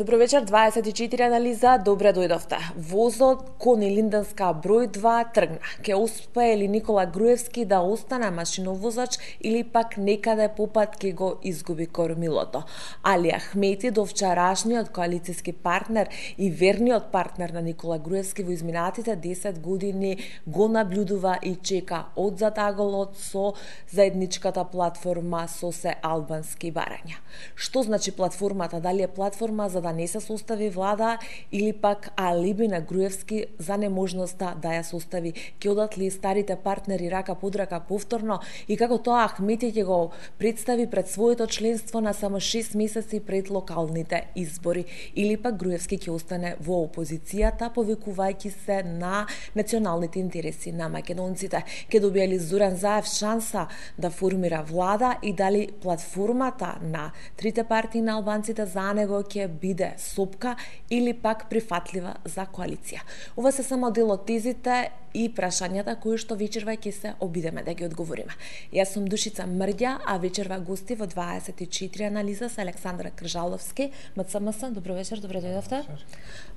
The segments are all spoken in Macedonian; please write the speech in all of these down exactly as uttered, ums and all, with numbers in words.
Добро вечер, дваесет и четири анализа, добре дојдовте. Возот кон Илинденска број два тргна. Ке успее ли Никола Груевски да остане машиновозач или пак некаде попат ке го изгуби кормилото? Али Ахмети, довчарашниот коалициски партнер и верниот партнер на Никола Груевски во изминатите десет години, го наблюдува и чека одзад аголот со заедничката платформа со се албански барања. Што значи платформата? Дали е платформа за да не се состави влада или пак алиби на Груевски за неможноста да ја состави? Ке одат ли старите партнери рака под рака повторно и како тоа Ахмети ќе го представи пред своето членство на само шест месеци пред локалните избори, или пак Груевски ќе остане во опозицијата повикувајќи се на националните интереси на македонците? Ке добие ли Зоран Заев шанса да формира влада и дали платформата на трите партии на албанците за него ќе биде сопка или пак прифатлива за коалиција? Ова се само дел од тезите и прашањата кои што вечерва ќе се обидеме да ги одговориме. Јас сум Душица Мрѓа, а вечерва гости во дваесет и четири анализа се Александра Кржаловски, МЦМС. Добро вечер, добро дојдовте.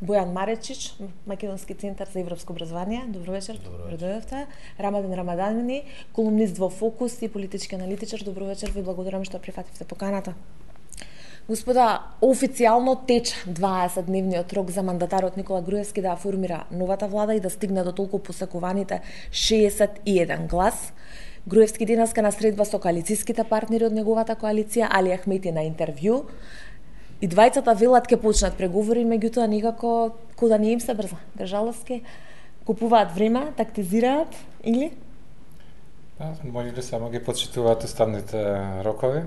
Бојан Маречич, Македонски центар за европско образование. Добро вечер, добро дојдовте. Рамадан Рамадани, колумнист во Фокус и политички аналитичар. Добро вечер, ви благодарам што прифативте поканата. Господа, официјално тече дваесетдневниот рок за мандатарот Никола Груевски да формира новата влада и да стигне до толку посакуваните шеесет и еден глас. Груевски денеска на средба со коалицијските партнери од неговата коалиција, Али Ахмети на интервју. И двајцата велат ке почнат преговори, меѓутоа никако ко да не им се брза. Кржаловски купуваат време, тактизираат или? Па, може ли само ги почитуваат уставните рокови?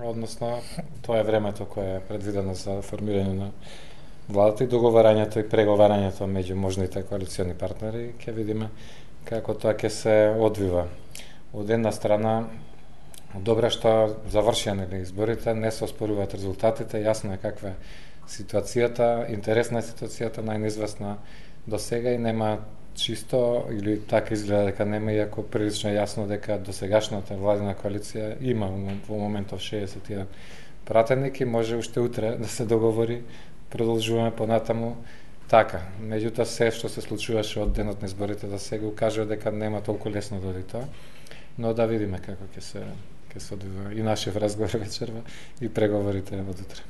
Односно, тоа е времето кое е предвидено за формирање на владата и договарањето и преговарањето меѓу можните коалициони партнери. Ќе видиме како тоа ќе се одвива. Од една страна, добре што завршија изборите, не се оспоруваат резултатите, јасно е каква е ситуацијата, интересна е ситуацијата, најнеизвестна до сега и нема чисто, или така изгледа дека нема, иако прилично јасно дека досегашната владина коалиција има во моментов шеесет и еден пратеник и може уште утре да се договори, продолжуваме понатаму така. Меѓутоа се што се случуваше од денот на изборите да се го кажува дека нема толку лесно да оди тоа, но да видиме како ќе се ќе се одвива и нашиот разговор вечерва и преговорите од утре.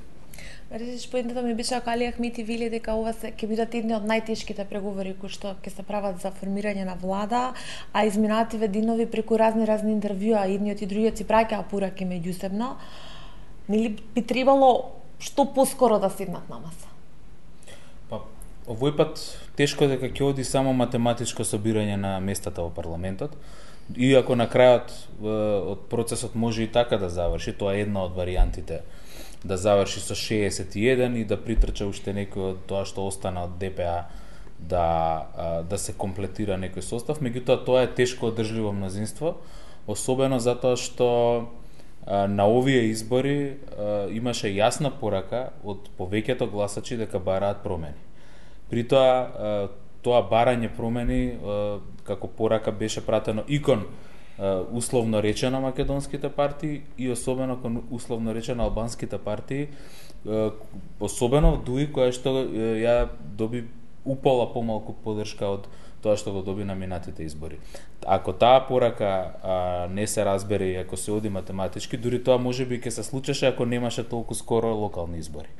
Речиш, поентата ми беше ако Али Ахмети вели дека ова се ќе бидат едни од најтешките преговори кои што ќе се прават за формирање на влада, а изминативе денови преку разни разни интервјуа едниот и другиот си праќаа пораки меѓусебно, нели би требало што поскоро да седнат на маса? Па, овој пат тешко дека ќе оди само математичко собирање на местата во парламентот, иако на крајот од процесот може и така да заврши, тоа е една од варијантите да заврши со шеесет и еден и да притрча уште некој од тоа што остана од ДПА да да се комплетира некој состав, меѓутоа тоа е тешко одржливо мнозинство, особено затоа што на овие избори имаше јасна порака од повеќето гласачи дека бараат промени. При тоа тоа барање промени како порака беше пратено и кон условно речено македонските партии и особено кон условно речено албанските партии, особено Дуи која што ја доби упола помалку поддршка од тоа што го доби на минатите избори. Ако таа порака а, не се разбере и ако се оди математички, дури тоа можеби ќе се случеше ако немаше толку скоро локални избори.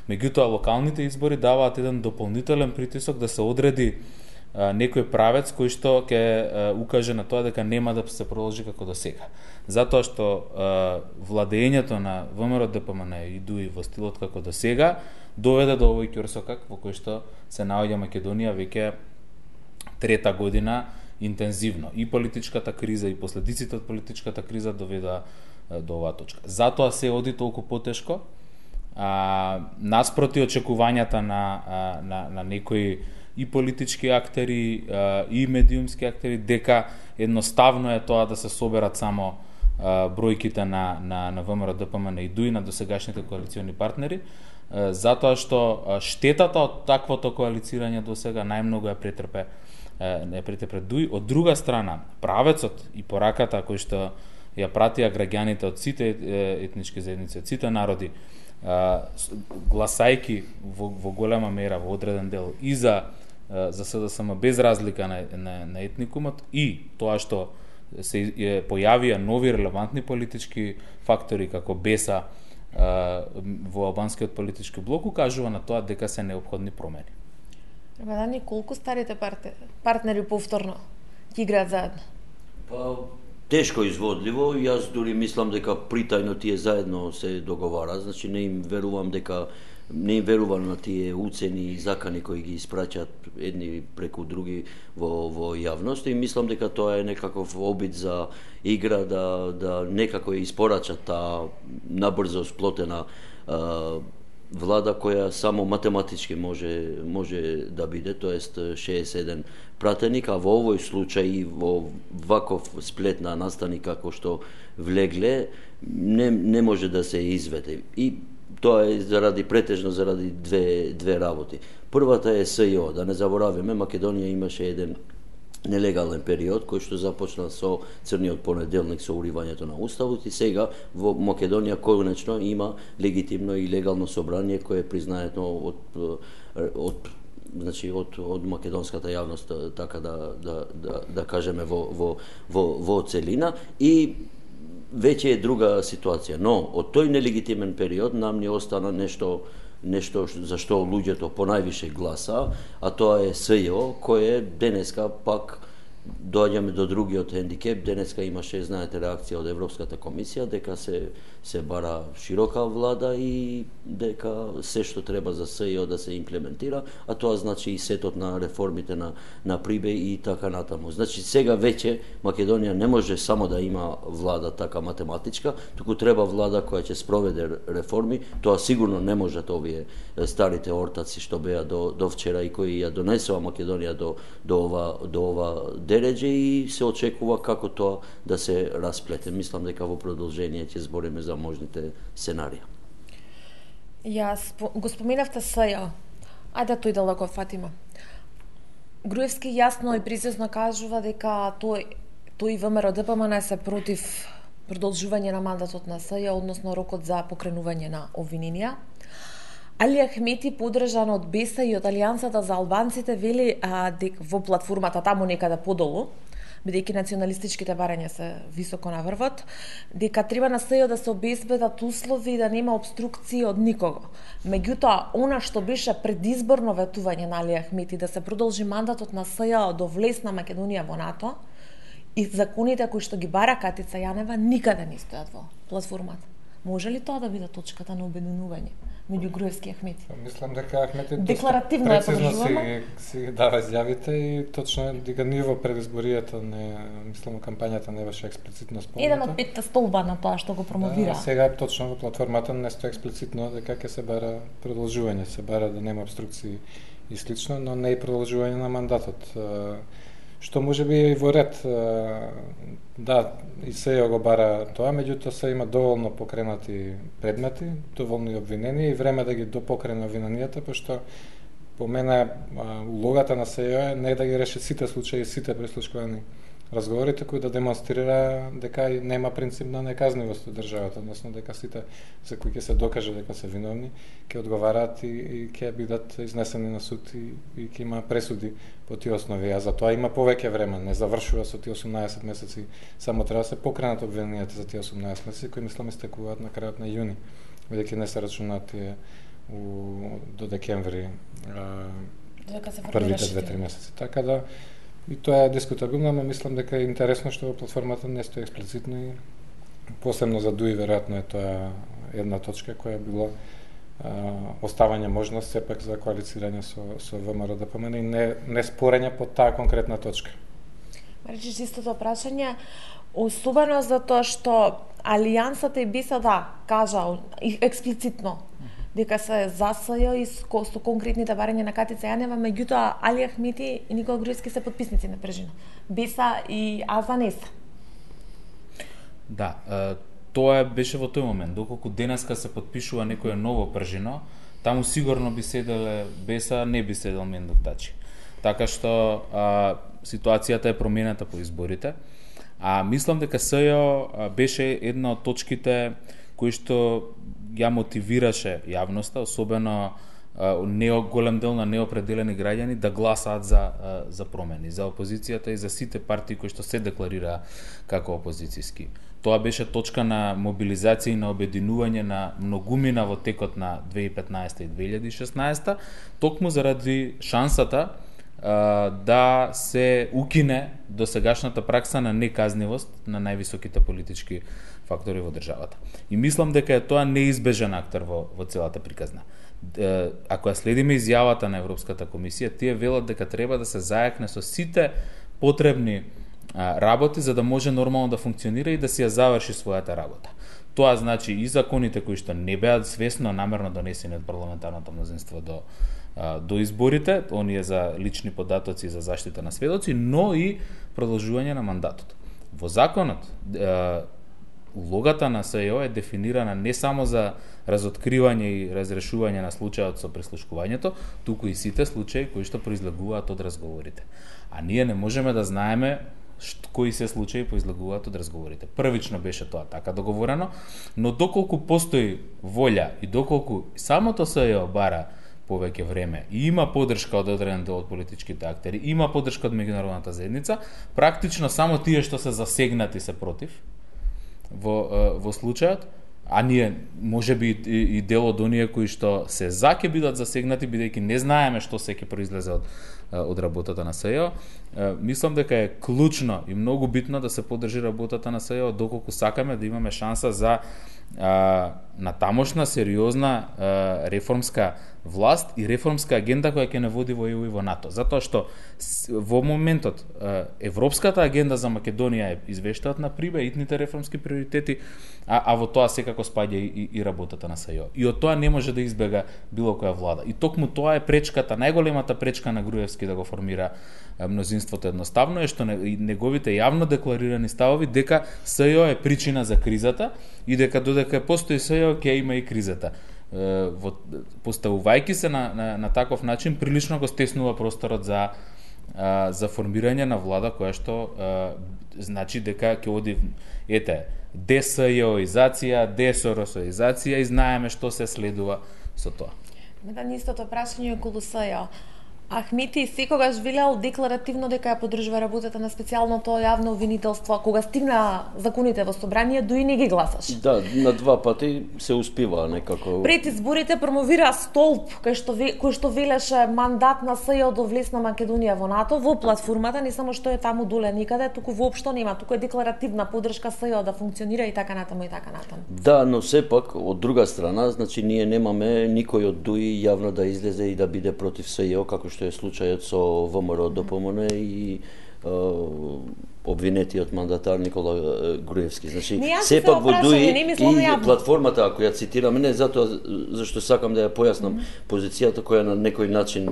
Меѓутоа локалните избори даваат еден дополнителен притисок да се одреди а, некој правец кој што ќе а, укаже на тоа дека нема да се продолжи како до сега. Затоа што а, владењето на ВМРО Д П М Н и Дуи во стилот како до сега доведе до овој ќорсокак во кој што се наоѓа Македонија веќе трета година интензивно. И политичката криза и последиците од политичката криза доведа до оваа точка. Затоа се оди толку потешко, а, наспроти очекувањата на, а, на, на некои и политички актери а, и медиумски актери, дека едноставно е тоа да се соберат само а, бројките на, на, на ВМРО Д П М Н и Дуи на досегашните коалициони партнери, а, затоа што штетата од таквото коалицирање до сега најмногу ја претрпе не претрпе Дуи. Од друга страна, правецот и пораката кој што ја пратија граѓаните од сите етнички заедници, од сите народи а, гласајки во, во голема мера, во одреден дел, и за, а, за СДСМ без разлика на, на, на етникумот, и тоа што се е, појавија нови релевантни политички фактори како Беса а, во албанскиот политички блок, укажува на тоа дека се неопходни промени. Рамадани, колку старите партнери повторно ќе играат заедно? Па, тешко изводливо, јас дури мислам дека притајно тие заедно се договара, значи не им верувам дека не им верувам на тие уцени и закани кои ги испраќаат едни преку други во во јавност, и мислам дека тоа е некаков обид за игра да да некако испорачат таа набрзо сплотена а, влада која само математички може може да биде, тоест шеесет и еден пратеник, а во овој случај во ваков сплет на настани како што влегле не не може да се изведе. И тоа е заради претежно заради две две работи. Првата е СЈО, да не заборавиме, Македонија имаше еден нелегален период кој што започна со црниот понеделник со уривањето на уставот, и сега во Македонија конечно има легитимно и легално собрание кое е признаето од од значи од од македонската јавност, така да да да, да кажеме во во во во целина, и веќе е друга ситуација. Но од тој нелегитимен период нам ни остана нешто нешто за што луѓето понајвише гласа, а тоа е СЈО, кое денеска пак доаѓаме до другиот хендикеп. Денеска имаше, знаете, реакција од Европската комисија дека се се бара широка влада и дека се што треба за СЈО да се имплементира, а тоа значи и сетот на реформите на на Прибе и така натаму. Значи сега веќе Македонија не може само да има влада така математичка, туку треба влада која ќе спроведе реформи. Тоа сигурно не можат овие старите ортаци што беа до до вчера и кои ја донесува Македонија до до ова до ова дереđe, и се очекува како тоа да се расплете. Мислам дека во продолжение ќе збориме за можните сценарија. Јас го споменавте СЈО. Ајде тој да го фатима. Груевски јасно и прецизно кажува дека тој тој и ВМРО Д П М Н се против продолжување на мандатот на СЈО, односно рокот за покренување на обвиненија. Али Ахмети, подржан од Беса и од Алијансата за албанците, вели а, дек, во платформата таму некаде подолу, бидејќи националистичките барања се високо на врвот, дека треба на СЈО да се обезбедат услови да нема обструкции од никого. Меѓутоа, она што беше предизборно ветување на Али Ахмети да се продолжи мандатот на СЈО до влез на Македонија во НАТО, и законите кои што ги бара Катица Јанева никаде не стојат во платформата. Може ли тоа да биде точката на обединување меѓу Груевски и Ахмети? Мислам дека Ахмети декларативно е подржуваме. Си, си дава изјавите и точно дека ниво пред изборијата не, мислам, кампањата не беше експлицитно спомнато. Еден од петте столба на тоа што го промовира. Да, сега точно во платформата не стои експлицитно дека ќе се бара продолжување, се бара да нема обструкции и слично, но не и продолжување на мандатот. Што може би и во ред, да, и СЈО го бара тоа, меѓутоа се има доволно покренати предмети, доволно и обвинени, и време да ги допокрене обвиненијата, пошто по мене улогата на СЈО е не да ги реши сите случаи, сите прислушкувани разговорите, кои да демонстрира дека нема принцип на неказнивост од државата, односно дека сите за кои ќе се докаже дека се виновни, ќе одговараат и, и ќе бидат изнесени на суд и, и ќе има пресуди по тие основи. А за тоа има повеќе време, не завршува со тие осумнаесет месеци, само треба да се покренат обвиненијата за тие осумнаесет месеци, кои мислам истекуваат на крајот на јуни, бидејќи не се рачунаат тие у, до декември а, првите две-три месеци. Така да и тоа е дискутабилно, но мислам дека е интересно што во платформата не стои експлицитно, и посебно за ДУИ веројатно е тоа една точка која било а, оставање можност сепак за коалицирање со со ВМРО Д П М Н и не не спорење по таа конкретна точка. Речиш истото прашање, особено затоа што Алијансата и Беса да кажа експлицитно дека се за СЈО и со конкретните барања на Катица Јанева, меѓутоа Али Ахмети и Никола Груевски се потписници на Пржина. Беса и Аза не се. Да, тоа беше во тој момент. Доколку денеска се потпишува некое ново Пржино, таму сигурно би седеле Беса, не би седел Мендов Тачи. Така што а, ситуацијата е променета по изборите. А мислам дека СЈО беше една од точките кој што ја мотивираше јавноста, особено нео голем дел на неопределени граѓани да гласаат за за промени, за опозицијата и за сите партии кои што се декларираа како опозицијски. Тоа беше точка на мобилизација и на обединување на многумина во текот на две илјади и петнаесета и две илјади и шеснаесета, токму заради шансата а, да се укине досегашната пракса на неказнивост на највисоките политички фактори во државата. И мислам дека е тоа неизбежен актер во, во целата приказна. Ако ја следиме изјавата на Европската комисија, тие велат дека треба да се зајакне со сите потребни а, работи за да може нормално да функционира и да си ја заврши својата работа. Тоа значи и законите кои што не беа свесно намерно донесени од парламентарното мнозинство до а, до изборите, оние за лични податоци и за заштита на сведоци, но и продолжување на мандатот. Во законот а, улогата на СЈО е дефинирана не само за разоткривање и разрешување на случајот со прислушкувањето, туку и сите случаи кои што произлегуваат од разговорите. А ние не можеме да знаеме шт, кои се случаи произлегуваат од разговорите. Првично беше тоа така договорено, но доколку постои волја и доколку самото СЈО бара повеќе време и има подршка од одреден дел од политичките актери, има подршка од меѓународната заедница, практично само тие што се засегнати се против во во случајот, а ние можеби и, и дел од оние кои што се за ќе бидат засегнати бидејќи не знаеме што се ќе произлезе од од работата на СЈО. Мислам дека е клучно и многу битно да се поддржи работата на СЈО доколку сакаме да имаме шанса за а, на тамошна сериозна а, реформска власт и реформска агенда која ќе не води во Е У и во НАТО. Затоа што во моментот а, европската агенда за Македонија е извештаат на Прибе, итните реформски приоритети, а, а во тоа секако спаѓа и, и работата на СЈО. И од тоа не може да избега било која влада. И токму тоа е пречката, најголемата пречка на Груевски да го формира мнозинството едноставно е што неговите јавно декларирани ставови дека СЈО е причина за кризата и дека додека постои СЈО ќе има и кризата. Во, поставувајќи се на, на, на таков начин, прилично го стеснува просторот за, а, за формирање на влада која што а, значи дека ќе оди, ете, десјоизација, десоросоизација и знаеме што се следува со тоа. Медан истото прашање околу СЈО. Ахмети секогаш велел декларативно дека ја поддржува работата на специјалното јавно обвинителство, кога стигна законите во собрание, дуи не ги гласаш. Да, на два пати се успива некако. Пред изборите промовира столб кој што кој што велеше мандат на СЈО до влезна Македонија во НАТО во платформата, не само што е таму доле никаде, туку воопшто нема, туку е декларативна поддршка СЈО да функционира и така натаму и така натаму. Да, но сепак од друга страна, значи ние немаме никој од дуи јавно да излезе и да биде против СЈО како што е случајот со Вэ Ем Р Д П М Н и обвинетиот мандатар Никола Груевски. Значи, сепак во ДУИ и платформата, ако ја цитирам, не затоа зашто сакам да ја појаснам mm -hmm. позицијата која на некој начин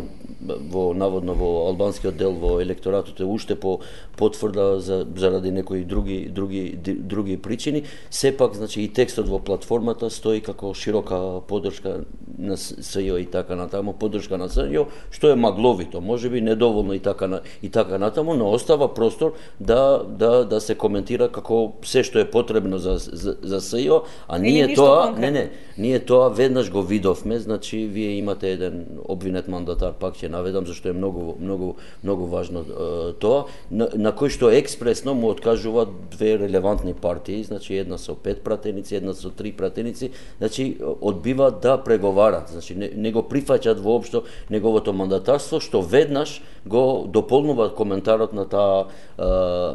во наводно во албанскиот дел во електоратот е уште по потврда за заради некои други други други причини, сепак значи и текстот во платформата стои како широка поддршка на СЈО и така натаму, поддршка на СЈО, што е магловито, можеби недоволно и така на, и така натаму, но остава простор да да да се коментира како се што е потребно за за, за СЈО, а ние тоа конкретно. не не, ние тоа веднаш го видовме, значи вие имате еден обвинет мандатар, пак ќе наведам зашто е многу многу многу важно е, тоа, на, на кој што експресно му откажуваат две релевантни партии, значи една со пет пратеници, една со три пратеници, значи одбиваат да преговарат, значи не, не го прифаќаат воопшто неговото мандатарство, што веднаш го дополнуваат коментарот на таа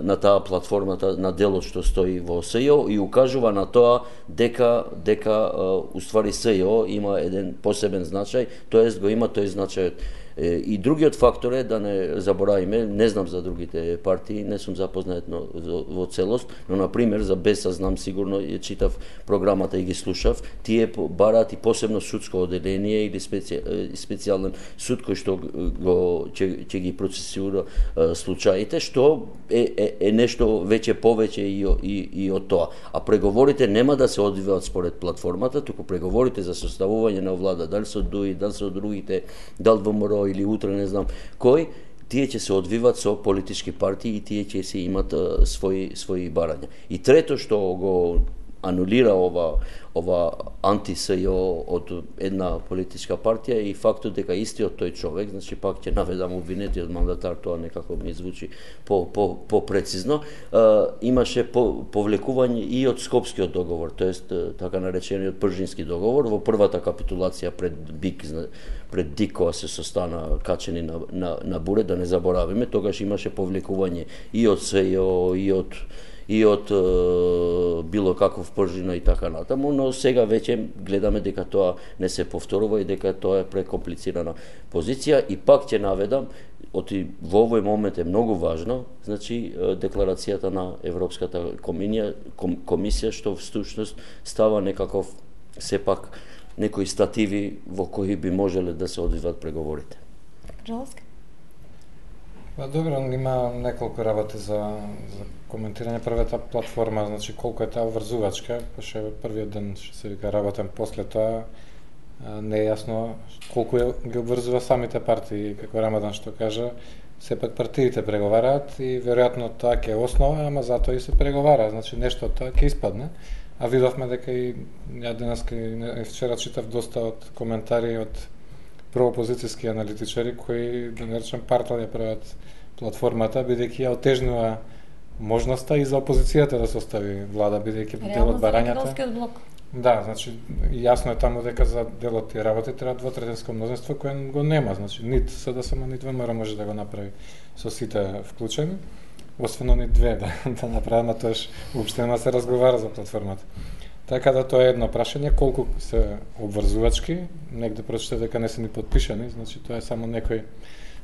на таа платформата, на делот што стои во СЈО и укажува на тоа дека дека уствари СЈО има еден посебен значај, тоест го има тој значај. И другиот фактор е да не заборавиме, не знам за другите партии, не сум запознат во целост, но на пример за Беса знам сигурно, ја читав програмата и ги слушав, тие бараат и посебно судско оделение или специ, специјален суд кој што го ќе, ќе ги процесира случаите, што е, е, е нешто веќе повеќе и, и, и од тоа. А преговорите нема да се одвиваат според платформата, туку преговорите за составување на влада, дали со ДУИ, дали со другите, дали Вэ Ем Р или утре не знам кој, тие ќе се одвиват со политички партии и тие ќе се имат а, своји своји барања. И трето што го анулира ова ова анти-СЈО од една политичка партија и фактот дека истиот тој човек, значи пак ќе наведам обвинетиот мандатар, тоа некако ми звучи по по попрецизно, имаше по, повлекување и од Скопскиот договор, тоест така наречениот Пржински договор во првата капитулација пред БИК, пред ДИК кога се состана качени на на на буре, да не заборавиме, тогаш имаше повлекување и од СЈО и од и од е, било каков Пржино и така натаму, но сега веќе гледаме дека тоа не се повторува и дека тоа е прекомплицирана позиција и пак ќе наведам, оти во овој момент е многу важно, значи декларацијата на Европската комисија, комисија што всушност става некаков сепак некои стативи во кои би можеле да се одвиват преговорите. Жалски. Па добро, има неколку работи за, за коментирање. Првата платформа, значи колку е таа врзувачка, пошто првиот ден што се вика работен, после тоа не е јасно колку е, ги обврзува самите партии, како Рамадан што кажа, сепак партиите преговараат и веројатно тоа ќе е основа, ама затоа и се преговара, значи нешто од тоа ќе испадне. А видовме дека и ја денеска и вчера читав доста од коментари од проопозицијски аналитичари кои, да не речем, партал ја прават платформата, бидејќи ја отежнува можноста и за опозицијата да состави влада, бидејќи дел од барањата. Да, значи јасно е таму дека за дел од тие работи треба двотретинско мнозинство кое го нема, значи нит СДСМ нит ВМРО може да го направи со сите вклучени, освен они две да, да направат, на тоаш уопште нема се разговара за платформата. Така да тоа е едно прашање, колку се обврзувачки, негде прочитав дека не се ни подпишани, значи тоа е само некој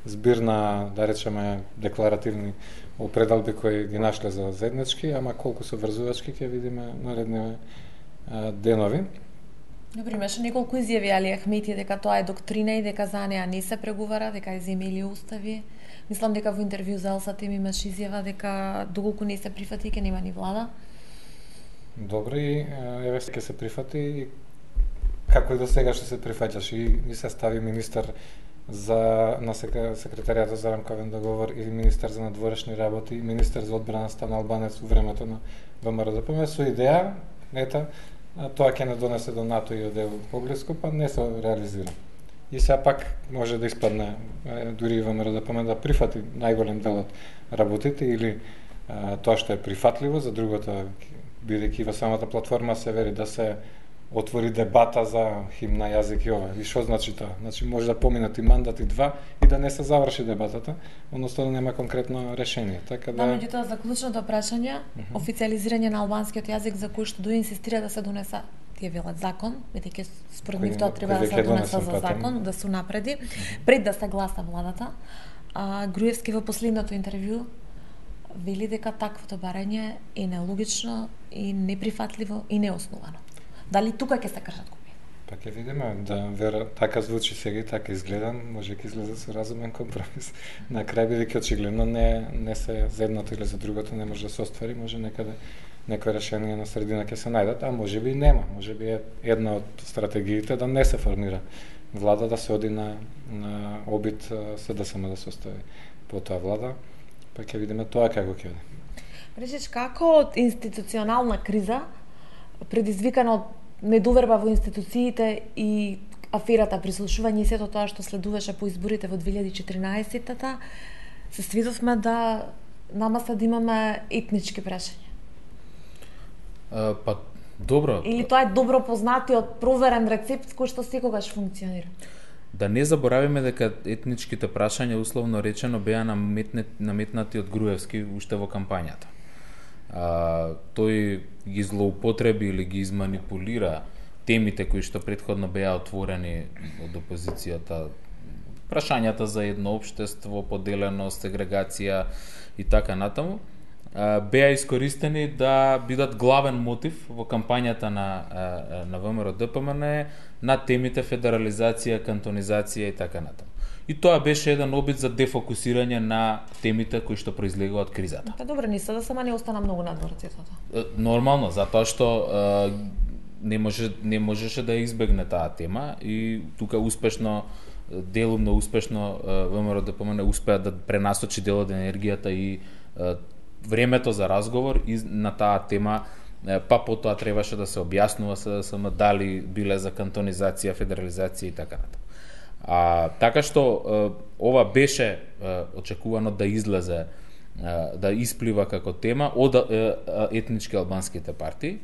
збир на, да речеме, декларативни опредалби кои ги нашле за заеднички, ама колку се врзувачки ќе видиме наредни денови. Добро, имаше неколку изјави Али Ахмети дека тоа е доктрина и дека за неа не се преговара, дека е земји устави. Мислам дека во интервју за Елса Тем имаше изјава дека доколку не се прифати ќе нема ни влада. Добро, и еве ќе се прифати и како и до сега што се прифаќаш и, и се стави министер за на секретаријата за рамковен договор или министер за надворешни работи и министер за одбрана стана албанец во времето на ВМРО-ДПМ со идеја, ета, тоа ќе не донесе до НАТО и од ЕУ поблиску, па не се реализира. И сега пак може да испадне дури и ВМРО-ДПМ да прифати најголем дел од работите или а, тоа што е прифатливо, за другото, бидејќи во самата платформа се вери да се отвори дебата за химна, јазик и ова. И што значи тоа? Значи може да поминат и мандат и два и да не се заврши дебатата, односно да нема конкретно решение. Така да, да меѓутоа заклучното прашање, uh -huh. официализирање на албанскиот јазик за кој што дуе инсистира да се донеса, тие велат закон, бидејќи според нив тоа треба да се донеса за закон, да се напреди, uh -huh. пред да се гласа владата. А Груевски во последното интервју вели дека таквото барање е нелогично и неприфатливо и неосновано. Дали тука ќе се кршат купи? Па ќе видиме, да вера, така звучи сега и така изгледа, може ќе излезе со разумен компромис. На крај бидејќи очигледно не не се за едното или за другото не може да се оствари, може некаде некој решение на средина ќе се најдат, а може би и нема. Може би е една од стратегиите да не се формира влада, да се оди на на обид СДСМ да се остави по тоа влада, па ќе видиме тоа како ќе оди. Речеш, како од институционална криза предизвикана од недоверба во институциите и аферата прислушување и сето тоа што следуваше по изборите во две илјади и четиринаесетта, се свидовме да нама се да имаме етнички прашања. А, па добро. Или тоа е добро познатиот проверен рецепт кој што секогаш функционира? Да не заборавиме дека етничките прашања, условно речено, беа наметнати од Груевски уште во кампањата. А, тој ги злоупотреби или ги изманипулира темите кои што претходно беа отворени од опозицијата, прашањата за едно општество, поделеност, сегрегација и така натаму, а, беа искористени да бидат главен мотив во кампањата на, на ВМРО-ДПМН на темите федерализација, кантонизација и така натаму. И тоа беше еден обид за дефокусирање на темите кои што произлегува од кризата. Па добро, не се да сама не остана многу надвор цветото. Нормално, затоа што е, не може не можеше да избегне таа тема и тука успешно делумно успешно ВМРО-ДПМН успеа да пренасочи дел од енергијата и е, времето за разговор и на таа тема па потоа требаше да се објаснува СДСМ дали биле за кантонизација, федерализација и така натаму. А така што ова беше очекувано да излезе, да исплива како тема од етнички албанските партии,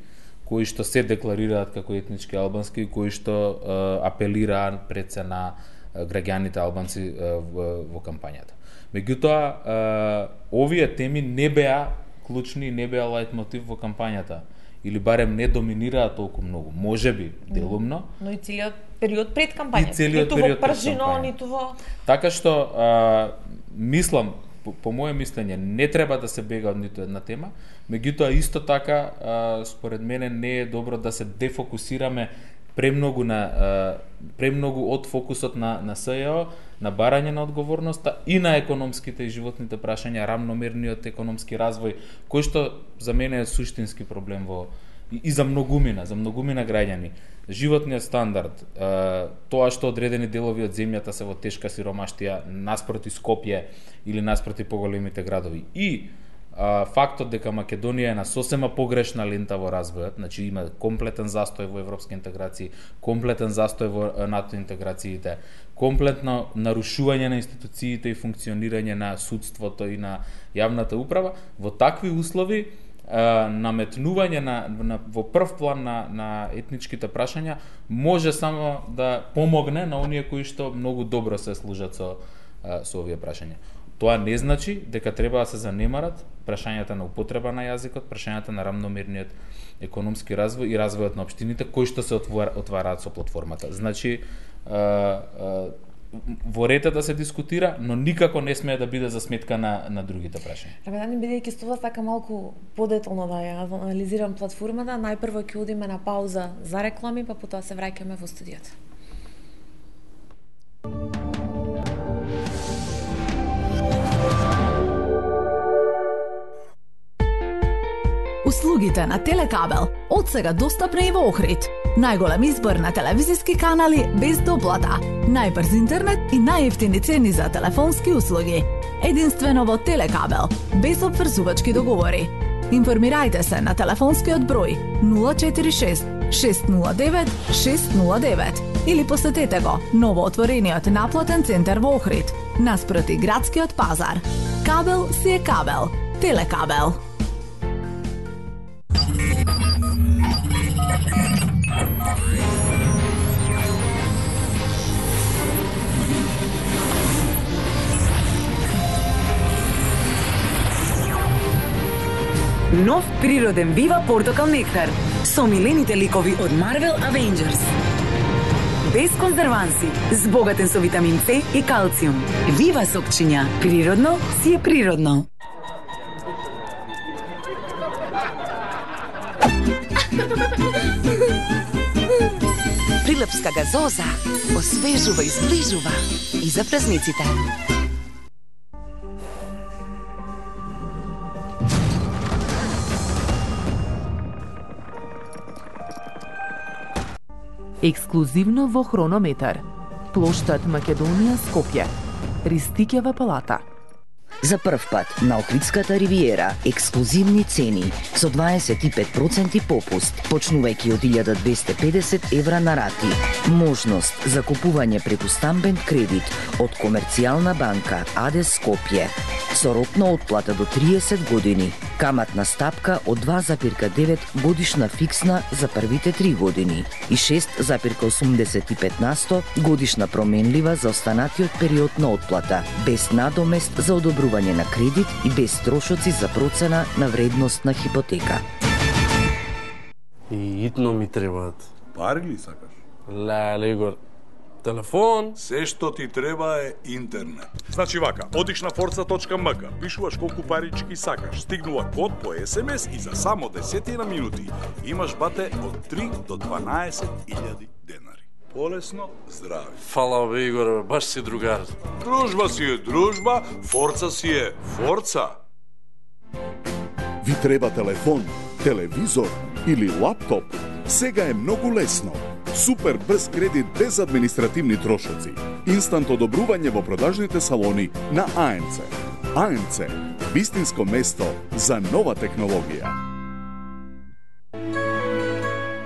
кои што се декларираат како етнички албански, кои што апелираат пред се на граѓаните албанци во, во кампањата. Меѓутоа, овие теми не беа клучни, не беа лајт мотив во кампањата, или барем не доминираа толку многу. Можеби делумно, но и целиот период пред кампањата, ниту во пржино, ниту во... Така што а, мислам, по, по моје мислење, не треба да се бега од ниту една тема, меѓутоа исто така, а, според мене не е добро да се дефокусираме премногу на а, премногу од фокусот на на СЈО, на барање на одговорноста и на економските и животните прашања, рамномерниот економски развој, кој што за мене е суштински проблем во и, и за многумина, за многумина граѓани. Животниот стандард, а, тоа што одредени делови од земјата се во тешка сиромаштија наспроти Скопје или наспроти поголемите градови, и а, фактот дека Македонија е на сосема погрешна лента во развојот, значи има комплетен застој во европски интеграции, комплетен застој во НАТО интеграциите, комплетно нарушување на институциите и функционирање на судството и на јавната управа, во такви услови а, наметнување на, на во прв план на, на етничките прашања може само да помогне на оние кои што многу добро се служат со, а, со овие прашања. Тоа не значи дека треба да се занемарат прашањата на употреба на јазикот, прашањата на рамномерниот економски развој и развојот на општините кои што се отвараат со платформата. Значи, а, а, во ред да се дискутира, но никако не смее да биде за сметка на, на другите прашања. Рамедан, бидејќи со вас така малку подетално да ја анализирам платформата, најпрво ќе одиме на пауза за реклами, па потоа се враќаме во студиото. Услугите на Телекабел од сега достапни и во Охрид. Најголем избор на телевизиски канали без доплата, најбрз интернет и најевтини цени за телефонски услуги. Единствено во Телекабел, без обврзувачки договори. Информирајте се на телефонскиот број нула четири шест шест нула девет шест нула девет или посетете го новоотворениот наплатен центар во Охрид, наспроти градскиот пазар. Кабел си е кабел. Телекабел. Нов природен Вива портокал нектар со милените ликови од Marvel Avengers. Без конзерванси, збогатен со витамин С и калциум. Вива сокчиња, природно си е природно. Прилепска газоза освежува и зближува и за празниците. Ексклузивно во Хронометар. Плоштад Македонија, Скопје. Ристикјава палата. За прв пат на Охридската ривиера ексклузивни цени со дваесет и пет проценти попуст, почнувајќи од илјада двесте и педесет евра на рати. Можност за купување преку стамбен кредит од Комерцијална банка АД Скопје со рок на отплата до триесет години. Каматна стапка од два запирка девет годишна фиксна за првите три години и шест запирка осумдесет и пет на сто годишна променлива за останатиот период на отплата, без надомест за одобрување на кредит и без трошоци за процена на вредност на хипотека. И итно ми требаат. Пари ли сакаш? Леле, Игор. Телефон? Се што ти треба е интернет. Значи вака, одиш на forza точка ем ка, пишуваш колку парички сакаш, стигнува код по ес ем ес и за само десетина минути имаш бате од три до дванаесет илјади денари. Полесно, здрави. Фала бе, Игор, баш си другар. Дружба си е дружба, Forza си е Forza. Ви треба телефон, телевизор или лаптоп? Сега е многу лесно. Супер брз кредит без административни трошоци. Инстант одобрување во продажните салони на АНЦ. АНЦ, вистинско место за нова технологија.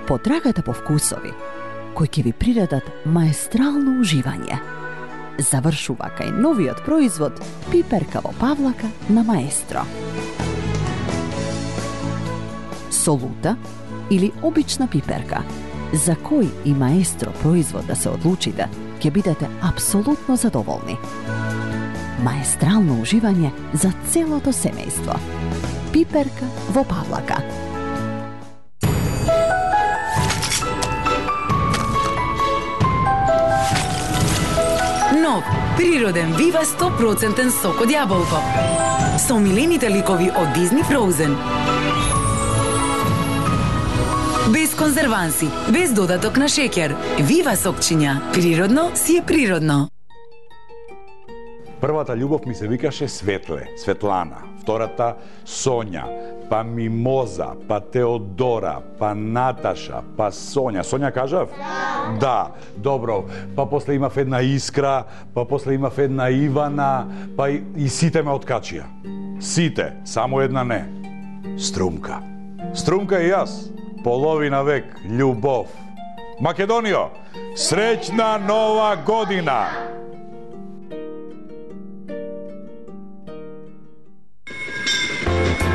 Потрагата по вкусови, кои ќе ви приредат маестрално уживање. Завршува кај новиот производ пиперка во павлака на Маестро. Солута или обична пиперка, за кој и Маестро производ да се одлучите, ќе бидете апсолутно задоволни. Маестрално уживање за целото семејство. Пиперка во павлака. Нов, природен Вива сто проценти сок од јаболко. Со омилените ликови од Дизни Frozen. Без конзерванси, без додаток на шеќер. Вива сокчиња. Природно си е природно. Првата љубов ми се викаше Светле, Светлана. Втората Сонја, па Мимоза, па Теодора, па Наташа, па Сонја. Сонја кажав? Да. Да, добро. Па после имав една Искра, па после имав една Ивана, па и, и сите ме откачија. Сите, само една не. Струмка. Струмка и јас. Половина век, љубов. Македонијо, среќна нова година!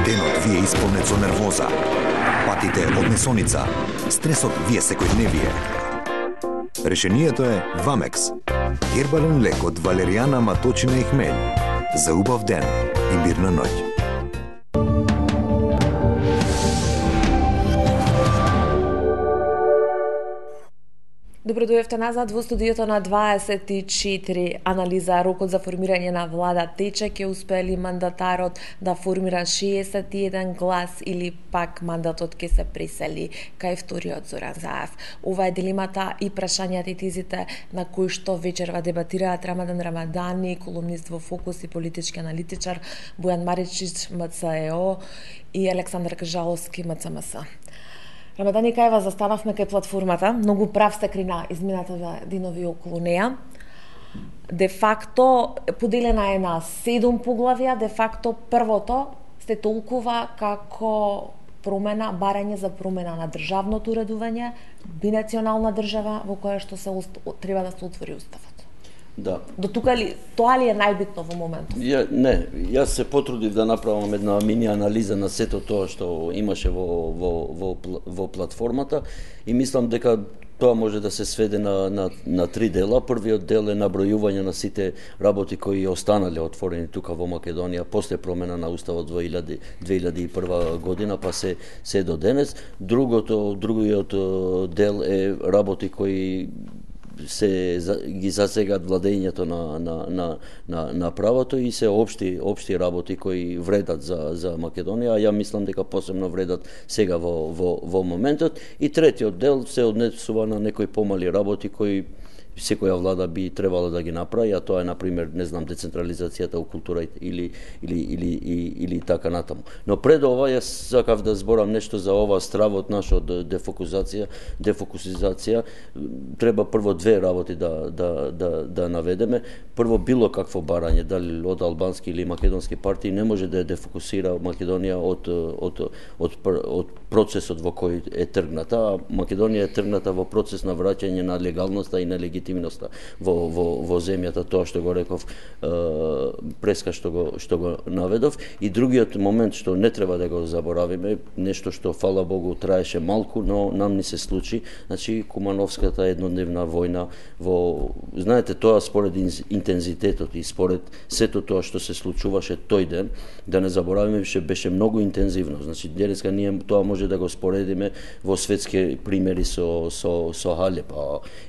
Денот ви е исполнет со нервоза. Патите од несоница. Стресот ви е секојдневие. Решението е Вамекс. Гербален лек од валеријана, маточина и хмелј. За убав ден и мирна ноќ. Добро дојавте назад во студиото на дваесет и четири. Анализа рокот за формирање на влада тече, ќе успее ли мандатарот да формира шеесет и еден глас или пак мандатот ќе се пресели кај вториот Зоран Заев. Ова е дилемата и прашањата и тезите на кои што вечерва дебатираат Рамадан Рамадани, колумнист во Фокус и политички аналитичар, Бојан Маричич, М Ц Е О и Александар Кажаловски, М Ц М С. Рамадани, кај вас застанавме кај платформата, многу прав се крина изминатата денови околу неа. Де факто поделена е на седум поглавја, де факто првото се толкува како промена, барање за промена на државното уредување, бинационална држава во која што се треба да се отвори уставот. Да. До тука ли, тоа ли е најбитно во моментот? Ја, не, јас се потрудив да направам една мини анализа на сето тоа што имаше во, во, во, во платформата и мислам дека тоа може да се сведе на, на, на три дела. Првиот дел е набројување на сите работи кои останале отворени тука во Македонија после промена на уставот во две илјади и прва година, па се, се до денес. Другото, другиот дел е работи кои се ги засегат владењето на, на, на, на, на правото и се општи, општи работи кои вредат за, за Македонија, а ја мислам дека посебно вредат сега во, во, во моментот. И третиот дел се однесува на некои помали работи кои секоја влада би требала да ги направи, а тоа е, например, не знам, децентрализацијата у култура или, или, или, или, или така натаму. Но пред ова, јас сакав да зборам нешто за ова стравот наш од дефокусација, дефокусизација. Треба прво две работи да, да, да, да наведеме. Прво, било какво барање, дали од албански или македонски партии, не може да дефокусира Македонија од, од, од, од процесот во кој е тргната. А Македонија е тргната во процес на враќање на легалноста и на легитимноста во, во, во земјата, тоа што го реков преска што го, што го наведов. И другиот момент што не треба да го заборавиме, нешто што, фала Богу, траеше малку, но нам ни се случи, значи Кумановската еднодневна војна во, знаете, тоа според интензитетот и според сето тоа што се случуваше тој ден, да не заборавиме, беше, беше многу интензивно. Значи денеска ние тоа може да го споредиме во светски примери со со со Халеп,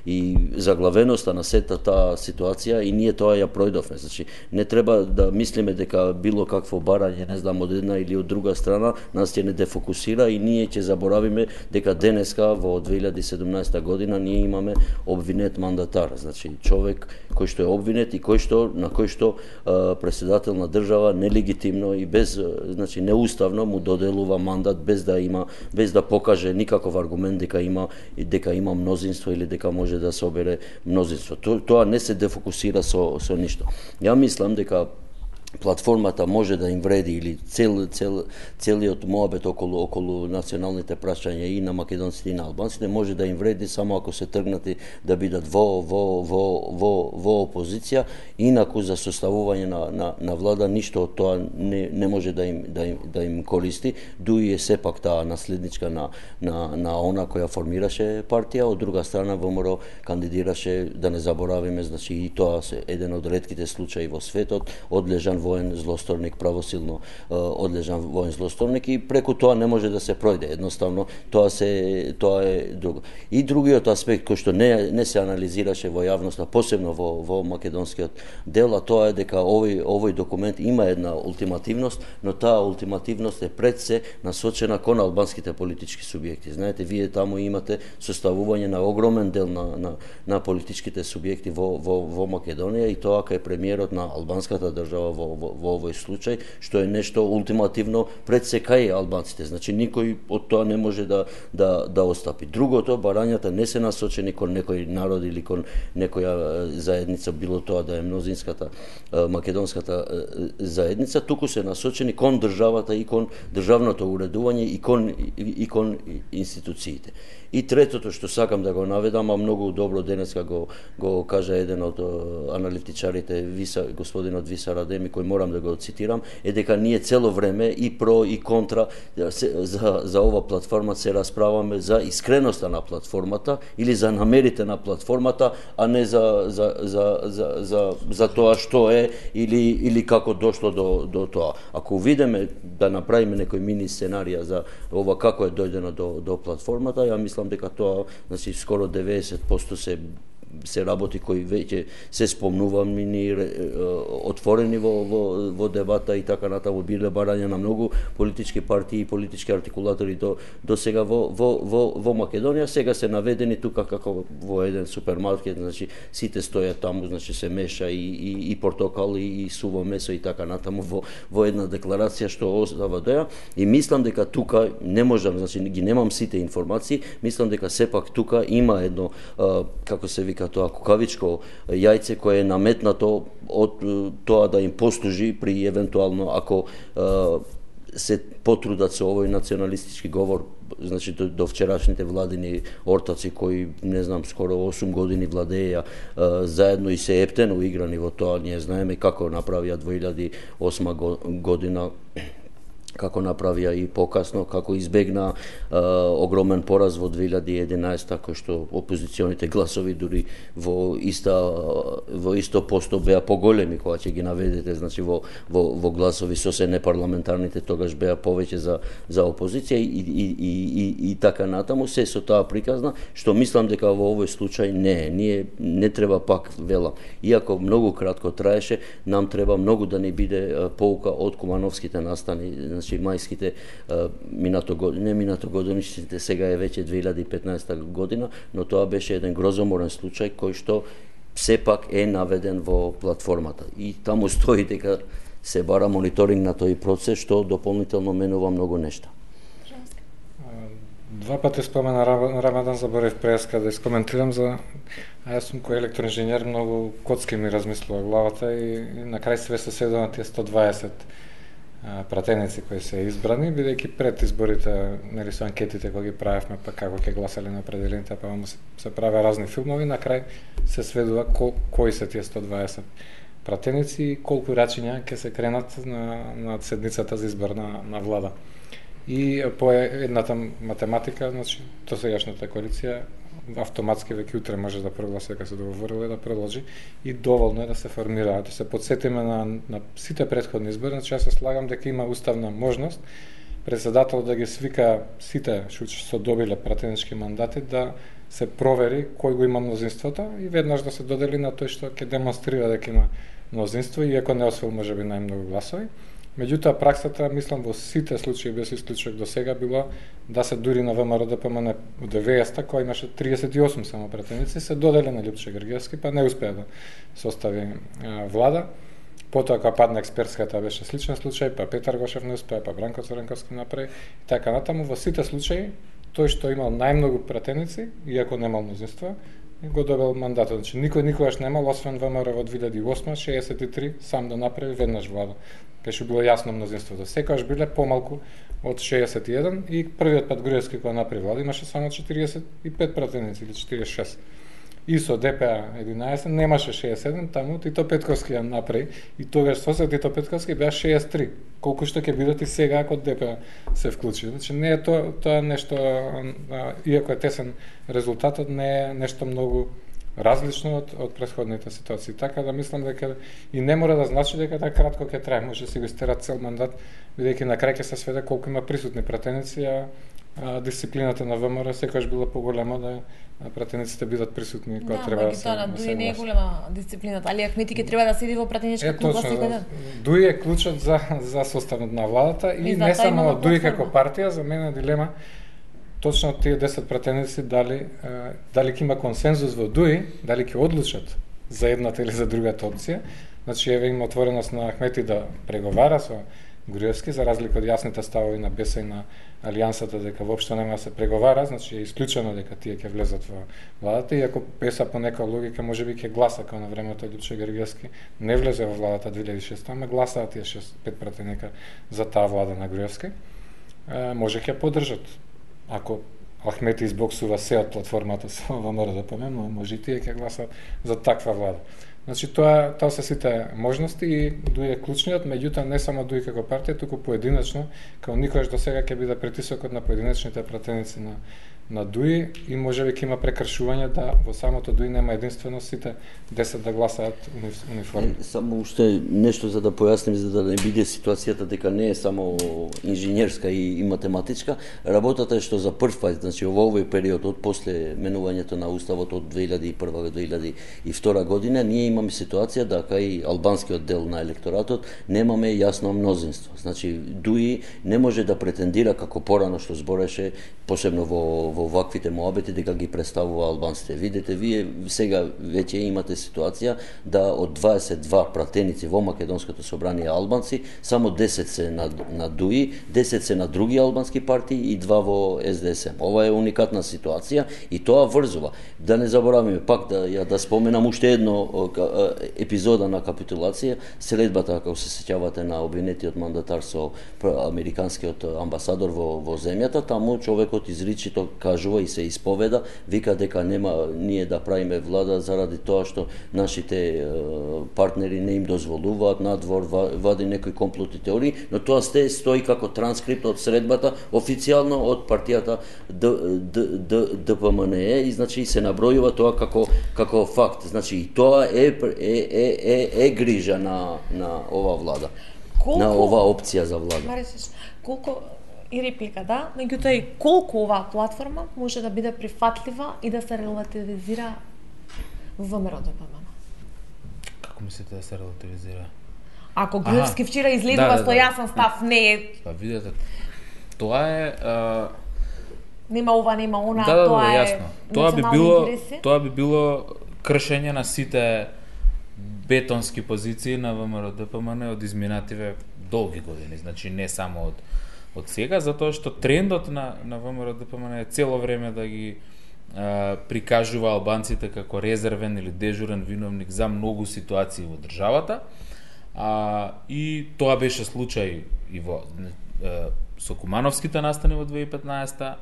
и заглавеноста на сета таа ситуација, и ние тоа ја пројдовме. Значи не треба да мислиме дека било какво барање, не знам, од една или од друга страна нас ќе не дефокусира и ние ќе заборавиме дека денеска во две илјади и седумнаесета година ние имаме обвинет мандатар, значи човек кој што е обвинет и кој што на кој што а, председател на држава нелегитимно и без, значи неуставно му доделува мандат без да има, без да покаже никаков аргумент дека има дека има мнозинство или дека може да собере мнозинство. То, тоа не се дефокусира со со ништо. Ја мислам дека платформата може да им вреди или цел, цел, целиот моабет околу, околу националните прашања и на македонците и на албанците може да им вреди само ако се тргнати да бидат во, во, во, во, во опозиција, инаку за составување на, на, на влада ништо од тоа не, не може да им, да им, да им користи, дуи е сепак таа наследничка на, на, на она која формираше партија, од друга страна ВМРО кандидираше, да не заборавиме, значи и тоа се еден од ретките случаи во светот, одлежан воен злосторник, правосилно одлежан воен злосторник, и преку тоа не може да се пројде. Едноставно тоа се тоа е друго. И другиот аспект кој што не не се анализираше во јавноста, посебно во во македонскиот дел, а тоа е дека овој овој документ има една ултимативност, но таа ултимативност е пред се насочена кон албанските политички субјекти. Знаете, вие таму имате составување на огромен дел на на, на политичките субјекти во во во Македонија, и тоа кај премиерот на албанската држава во Во, во овој случај, што е нешто ултимативно пред се кај албанците. Значи никој од тоа не може да да да остапи. Другото, барањата не се насочени кон некој народ или кон некоја заедница, било тоа да е мнозинската македонската заедница, туку се насочени кон државата и кон државното уредување и кон и кон институциите. И третото што сакам да го наведам, а многу добро денеска го го кажа еден од аналитичарите, Виса, господинот Виса Радеми, кој морам да го цитирам, е дека ние цело време и про и контра за за ова платформа се расправаме за искреноста на платформата или за намерите на платформата, а не за за за за за, за тоа што е или или како дошло до до тоа. Ако видиме да направиме некој мини сценарија за ова како е дојдено до до платформата, ја мислам дека тоа, значи, скоро деветдесет проценти се се работи кои веќе се спомнувани, отворени во, во, во дебата и така натаму, биле барања на многу политички партии и политички артикулатори до, до сега во, во, во, во Македонија. Сега се наведени тука како во еден супермаркет, значи сите стојат таму, значи се меша и, и, и портокал и, и суво месо и така натаму во, во една декларација што остава доја. И мислам дека тука не можам, значи ги немам сите информации, мислам дека сепак тука има едно, како се вика тоа, кукавичко јајце кое е наметнато од тоа да им послужи при евентуално ако е, се потрудат со овој националистички говор, значи до, до вчерашните владини ортаци кои, не знам, скоро осум години владеја е, заедно и се ептено играни во тоа. Ние знаеме како направија две илјади и осма година, како направија и покасно, како избегна е, огромен пораз во две илјади и единаесета, кој што опозиционите гласови дури во иста во исто посто беа поголеми кога ќе ги наведете, значи во во во гласови со се непарламентарните тогаш беа повеќе за за опозиција и и и и, и така натаму, се со таа приказна, што мислам дека во овој случај не е. Ние не треба, пак велам, иако многу кратко траеше, нам треба многу да ни биде поука од кумановските настани, значи мајските минато година, не минато годинишните, сега е веќе две илјади и петнаесета година, но тоа беше еден грозоморен случај кој што сепак е наведен во платформата. И таму стои дека се бара мониторинг на тој процес, што дополнително менува многу нешта. Два пати спомена Рамадан, заборев преска да искоментирам за... А јас сум кој електроинженер, многу коцки ми размислува главата и, и на крај све се седо на тие сто дваесет пратеници кои се избрани, бидејќи пред изборите, нели, со анкетите кои ги правевме, па како ќе гласале на определените, па се, се праве разни филмови, на крај се сведува ко, кои се тие сто дваесет пратеници и колку рачиња ќе се кренат на, на седницата за избор на, на влада. И по едната математика, значи, то сегашната коалиција автоматски веќе утре може да прогласи дека се договорила да продолжи и доволно е да се формира. Да се подсетиме на, на сите претходни избори, значи јас се слагам дека има уставна можност председател да ги свика сите што се добиле пратенички мандати да се провери кој го има мнозинството и веднаш да се додели на тој што ќе демонстрира дека има мнозинство, иако не освоил можеби најмногу гласови. Меѓутоа, праксата, мислам, во сите случаи без исклучок до сега било да се дури на ВМРО Д П М Н во деветдесета, кој имаше триесет и осум само пратеници, се додели на Лјупче Гргевски, па не успеа да состави а, влада. Потоа, кога падна експертската, беше сличен случај, па Петар Гошев не успеа, па Бранко Црнковски направи, и така натаму. Во сите случаи, тој што имал најмногу пратеници, иако немал мнозинство, го добил мандатот. Значи никој никогаш немал, освен ВМРО во две илјади и осма, шеесет и три, сам да направи веднаш влада. Беше било јасно мнозинството. Секогаш биле помалку од шеесет и еден и првиот пат Груевски кога направи влада имаше само четириесет и пет пратеници или четириесет и шест. И со ДПА единаесет немаше шеесет и седум, таму Тито Петковски ја направи и тогаш со Тито Петковски беа шеесет и три. Колку што ќе бидат и сега ако ДПА се вклучи. Значи не е тоа тоа нешто, иако е тесен резултатот, не е нешто многу различно од, од претходните ситуации. Така да мислам дека и не мора да значи дека така кратко ќе трае, може да си го истера цел мандат, бидејќи на крај ќе се сведе колку има присутни пратеници, а, а дисциплината на ВМРО секогаш била поголема да пратениците бидат присутни кога да, треба да се. Да, Дуи не е голема дисциплината, али Ахмети ќе треба да седи во пратеничка клуба секој ден. Дуи е клучот за за составот на владата и, и не само Дуи како партија, за мене дилема точно тие десет пратеници дали дали ќе има консензус во Дуи, дали ќе одлучат за едната или за другата опција. Значи еве има отвореност на Ахмети да преговара со Груевски, за разлика од јасните ставови на БЕС и на Алијансата дека воопшто нема да се преговара, значи е исклучено дека тие ќе влезат во владата, иако БЕС-а по нека логика можеби ќе гласа како на времето Лјупчо Гергевски не влезе во владата две илјади и шеста, ама гласаа тие шест пет пратеника за таа влада на Груевски. Е, може ќе поддржат. Ако Ахмети избоксува се од платформата со ВМРО-ДПМ, може и тие ќе гласат за таква влада. Значи тоа тоа се сите можности и Дуи е клучниот, меѓутоа не само Дуи како партија, туку поединечно, како никогаш до сега ќе биде притисокот на поединечните пратеници на на Дуи и можеби ќе има прекршување да во самото Дуи нема единствено сите десет да гласаат униформи. Само уште нешто за да појасним, за да не биде ситуацијата дека не е само инженерска и, и математичка. Работата е што за прв пат, значи во овој период од после менувањето на уставот од две илјади и прва до две илјади и втора година, ние имаме ситуација да кај албанскиот дел на електоратот немаме јасно мнозинство. Значи Дуи не може да претендира како порано што збореше посебно во во ваквите моабети дека ги представува албанците. Видете, вие сега веќе имате ситуација да од дваесет и два пратеници во Македонското собрание албанци, само десет се на, на Дуи, десет се на други албански партии и два во С Д С М. Ова е уникатна ситуација и тоа врзува. Да не забораваме пак да ја да споменам уште едно епизода на капитулација, следбата, ако се сеќавате на обвинетиот мандатар со американскиот амбасадор во во земјата, таму човекот изричито кажува и се исповеда, вика дека нема ние да правиме влада заради тоа што нашите е, партнери не им дозволуваат надвор, вади некои комплотни теории, но тоа сте стои како транскрипт од средбата официјално од партијата Д П М Н Е и значи се набројува тоа како како факт. Значи и тоа е е е е, е грижа на на ова влада. Колку, на ова опција за влада. Марисиш, колку и реплика, да, меѓутоа и колку оваа платформа може да биде прифатлива и да се релативизира во ВМРО-ДПМН? Како мислите да се релативизира? Ако Груевски вчера излегува да, да, со јасен став, не е... Па видете, тоа е... А... Нема ова, нема она, да, да, тоа да, е јасно. Тоа би било, интереси? Тоа би било кршење на сите бетонски позиции на ВМРО-ДПМН од изминативе долги години, значи не само од од сега, затоа што трендот на на ВМРО-ДПМН е цело време да ги а, прикажува албанците како резервен или дежурен виновник за многу ситуации во државата. А, и тоа беше случај и во а, со Кумановските настани во две илјади и петнаесета,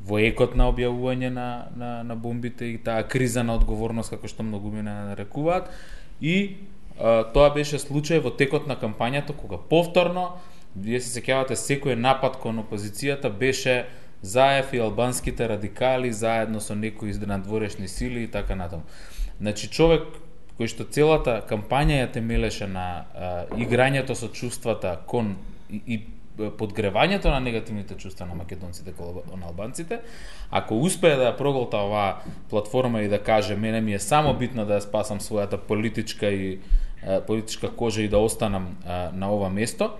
во екот на објавување на на на бомбите и таа криза на одговорност како што многумина нарекуваат, и а, тоа беше случај во текот на кампањата кога повторно, вие се сеќавате, секој напад кон опозицијата беше Заев и албанските радикали заедно со некои надворешни сили и така натаму. Значи човек кој што целата кампања ја темелеше на а, играњето со чувствата кон и, и подгревањето на негативните чувства на македонците кон албанците, ако успее да ја проголта оваа платформа и да каже мене ми е само битно да ја спасам својата политичка и а, политичка кожа и да останам а, на ова место,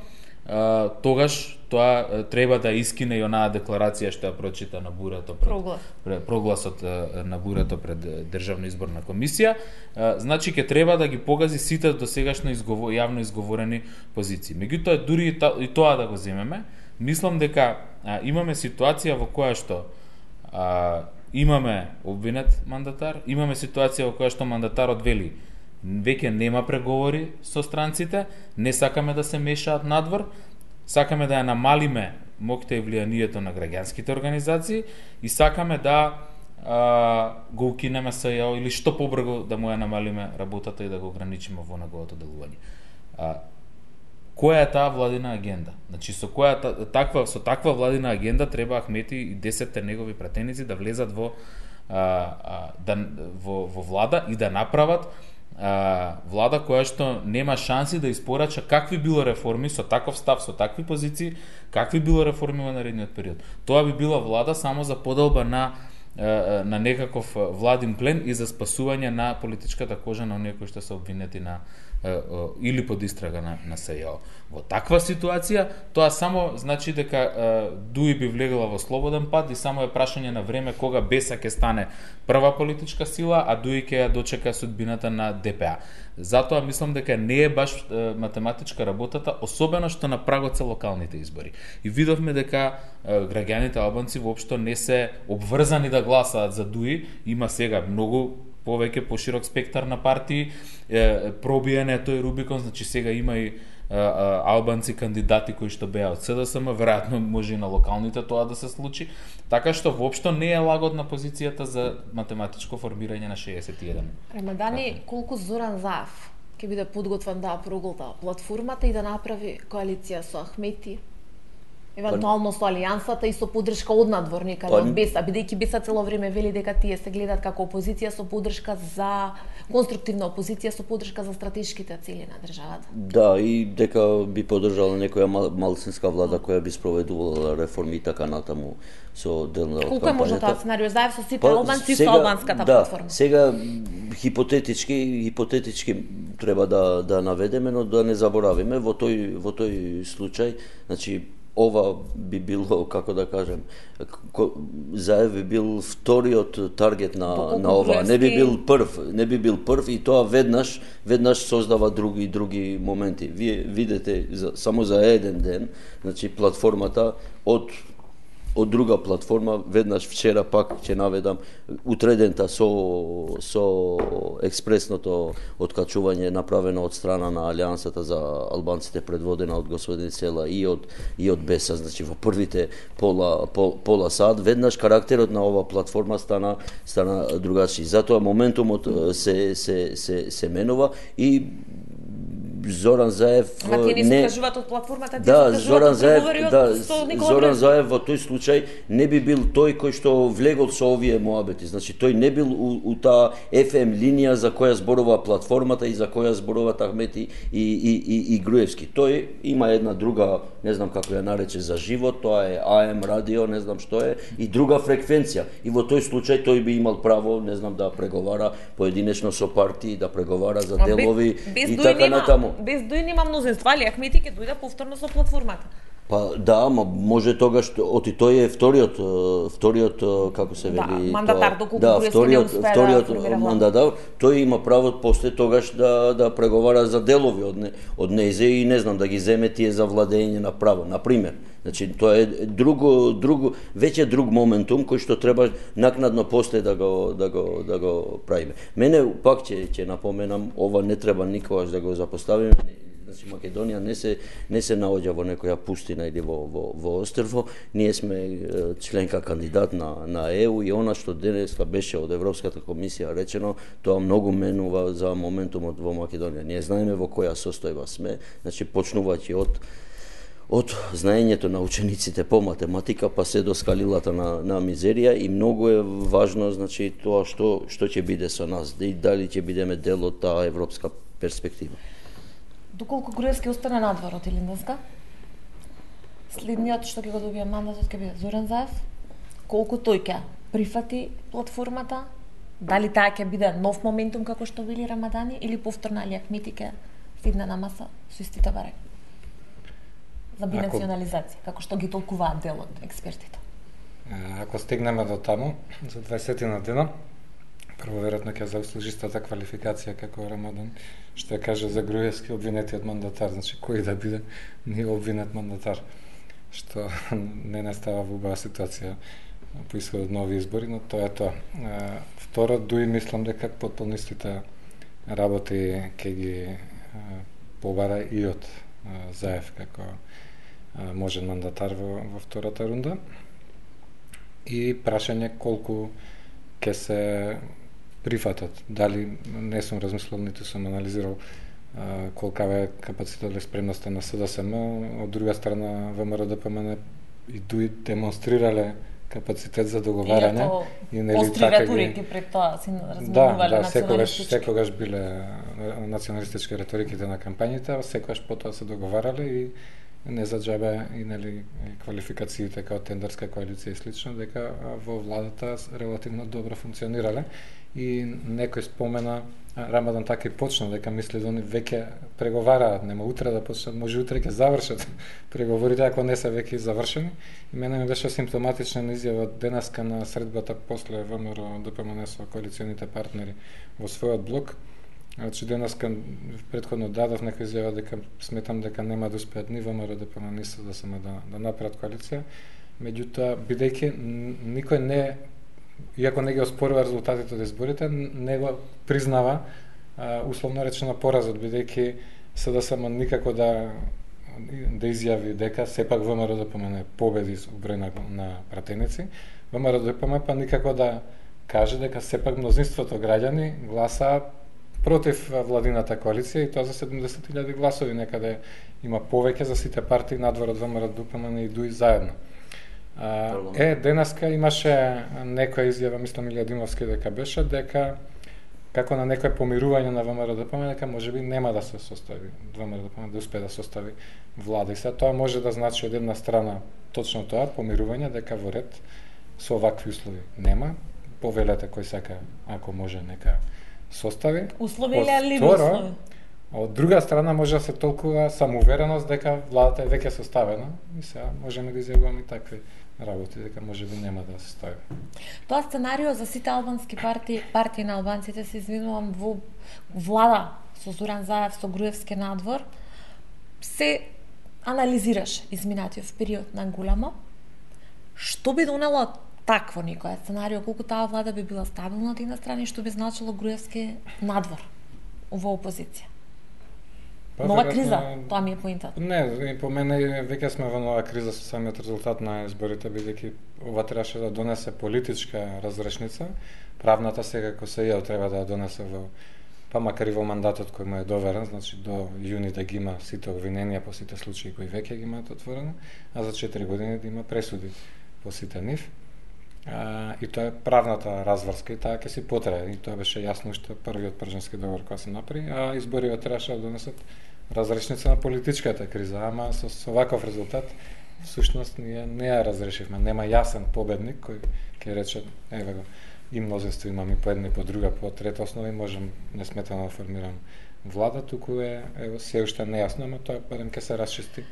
а, тогаш тоа треба да искине и онаа декларација што ја прочита на бурето пред Проглас. пред прогласот на бурето пред Државна изборна комисија. А, значи ќе треба да ги погази сите досегашно изговор, јавно изговорени позиции. Меѓутоа дури и, та, и тоа да го земеме, мислам дека а, имаме ситуација во која што а, имаме обвинет мандатар, имаме ситуација во која што мандатарот вели веќе нема преговори со странците, не сакаме да се мешаат надвор, сакаме да ја намалиме моќта и влијанието на граѓанските организации и сакаме да а, го укинеме СЈО или што побрзо да му ја намалиме работата и да го ограничиме во неговото делување. А, која е таа владина агенда? Значи со која таква со таква владина агенда треба Ахмети и десетте негови пратеници да влезат во а, а, да во, во влада и да направат а, влада која што нема шанси да испорача какви било реформи со таков став, со такви позиции, какви било реформи во наредниот период. Тоа би била влада само за подолба на на некаков владин плен и за спасување на политичката кожа на оние кои што се обвинети на или под истрага на, на СЈО. Во таква ситуација, тоа само значи дека Дуи би влегла во слободен пат и само е прашање на време кога Беса ќе стане прва политичка сила, а Дуи ќе ја дочека судбината на ДПА. Затоа мислам дека не е баш е, математичка работата, особено што на прагот се локалните избори. И видовме дека е, граѓаните албанци воопшто не се обврзани да гласаат за Дуи, има сега многу повеќе поширок спектар на партии, е, пробиен е тој Рубикон, значи сега има и а, а, албанци кандидати кои што беа од СДСМ, веројатно може и на локалните тоа да се случи, така што воопшто не е лагодна позицијата за математичко формирање на шеесет и еден. Рамадани, колку Зоран Заев ќе биде подготвен да проголта платформата и да направи коалиција со Ахмети? Евентуално со алијансата и со поддршка од надвор некаде од Беса, бидејќи Беса цело време вели дека тие се гледат како опозиција со поддршка за конструктивна опозиција со поддршка за стратешките цели на државата. Да, и дека би поддржала некоја мал, малцинска влада која би спроведувала реформи и така натаму со делна од кампањата. Колку е можно тоа сценарио заев со сите албанци со албанската да, платформа? Сега хипотетички хипотетички треба да да наведеме, но да не заборавиме во тој во тој случај, значи ова би било, како да кажем, Заев би бил вториот таргет на на ова, не би бил прв, не би бил прв и тоа веднаш веднаш создава други други моменти. Вие видите за, само за еден ден, значи платформата од од друга платформа, веднаш вчера пак ќе наведам утредента со со експресното откачување направено од страна на Алијансата за албанците предводена од господин Села и од и од Беса, значи во првите пола пол, пола сат веднаш карактерот на ова платформа стана стана другачи. Затоа моментумот се се се се менува и Зоран Заев Ама тие не се кажуваат од платформата, тие да, се Зоран Заев, да, Никола Зоран Заев во тој случај не би бил тој кој што влегол со овие моабети. Значи тој не бил у, у таа еф ем линија за која зборува платформата и за која зборуваат Ахмети и и и, и Груевски. Тој има една друга, не знам како ја нарече за живот, тоа е а ем радио, не знам што е, и друга фреквенција. И во тој случај тој би имал право, не знам, да преговара поединечно со партии, да преговара за делови без, и без така натаму. Без Дуи нема мнозинство, али Ахмети ќе дојде повторно со платформата. Па да, ама може тогаш оти тој е вториот вториот како се вели да, мандатар доколку да, вториот вториот да мандатар, тој има право после тогаш да да преговара за делови од не, од нејзе и не знам да ги земе тие за владење на право, на пример. Значи тоа е друго друго веќе друг моментум кој што треба накнадно после да го да го да го правиме. Мене пак ќе ќе напоменам, ова не треба никогаш да го запоставиме. Значи Македонија не се не се наоѓа во некоја пустина или во во во острво. Ние сме членка кандидат на на е у и она што денеска беше од Европската комисија речено, тоа многу менува за моментумот во Македонија. Ние знаеме во која состојба сме, значи почнувајќи од од знаењето на учениците по математика па се до скалилата на на мизерија и многу е важно, значи тоа што што ќе биде со нас, и дали ќе бидеме дел од таа европска перспектива. Доколку Груевски остане надвор од Илинденска, следниот што ќе го добие мандатот ќе биде Зоран Заев. Колку тој ќе прифати платформата, дали таа ќе биде нов моментум како што вели Рамадани или повторно Али Ахмети ќе седне на маса со истите барања за бinacionализација, како што ги толкуваат дел од експертите. Ако стигнеме до таму за дваесет на дена, прво веројатно ќе заслужи истата квалификација како Рамадан што ја каже за Груевски обвинетиот мандатар, значи кој да биде не обвинет мандатар, што не настава во убава ситуација по исходот нови избори, но тоа е тоа. Второ, дуи мислам дека потполно истите работи ќе ги побара и од Заев како можен мандатар во, во втората рунда. И прашање колку ќе се прифатат. Дали не сум размислил, ниту сум анализирал колкава е капацитет или спремноста на СДСМ, од друга страна ВМРО-ДПМН и дуи демонстрирале капацитет за договарање и нели така ги пред тоа се разменувале да, да, секогаш секогаш биле националистички реториките на кампањите, секогаш потоа се договарале и не за џабе и нели квалификациите како тендерска коалиција и слично, дека во владата релативно добро функционирале и некој спомена Рамадан така и почна дека мисли да они веќе преговараат, нема утре да почнат, може утре ќе завршат преговорите ако не се веќе завршени. И мене ми беше симптоматична изјава денеска на средбата после ВМРО-ДПМН со коалиционите партнери во својот блок. Значи денеска претходно дадов некоја изјава дека сметам дека нема да успеат ни ВМРО-ДПМН ни СДСМ да да направат коалиција. Меѓутоа, бидејќи никој не, иако не ги оспорува резултатите од изборите, не го признава а, условно речено поразот, бидејќи СДСМ никако да да изјави дека сепак ВМРО-ДПМН победи со број на, на пратеници, ВМРО-ДПМН па никако да каже дека сепак мнозинството граѓани гласаа против владината коалиција и тоа за седумдесет илјади гласови, некаде има повеќе за сите партии надвор од ВМРО-ДПМН и дуи заедно. А, е, денеска имаше некоја изјава, мислам Илија Димовски дека беше, дека како на некој помирување на ВМРО-ДПМН, дека можеби нема да се состави, ВМРО-ДПМН да успее да состави влада. И сега тоа може да значи од една страна точно тоа, помирување, дека во ред со овакви услови нема, повелете кој сака, ако може, нека состави. Услови или алиби услови? Од друга страна може да се толкува самоувереност дека владата е веќе составена и сега можеме да изјавуваме и такви работи, дека може би нема да се стави. Тоа сценарио за сите албански партии, партии на албанците, се извинувам, во влада со Зоран Заев, со Груевски надвор, се анализираш изминатиот период на големо. Што би донело такво некоја сценарио, колку таа влада би била стабилна од една страна и што би значило Груевски надвор во опозиција? Па, нова вероятно, криза, тоа ми е поинтата. Не, по мене веќе сме во нова криза со самиот резултат на изборите, бидејќи ова требаше да донесе политичка разрешница. Правната сега како се ја треба да ја донесе во, па макар и во мандатот кој му е доверен, значи до јуни да ги има сите обвиненија по сите случаи кои веќе ги имаат отворено, а за четири години да има пресуди по сите нив. А, и тоа е правната разврска и таа ќе си потрае. И тоа беше јасно уште првиот пржански договор кој се направи, а избориве требаше да донесат разрешница на политичката криза, ама со, со ваков резултат всушност ние не ја разрешивме. Нема јасен победник кој ќе рече еве го и мнозинство имам и по една и по друга, по трета основа и можам несметано да формирам влада, туку е ево се уште нејасно, ама тоа барем ќе се расчисти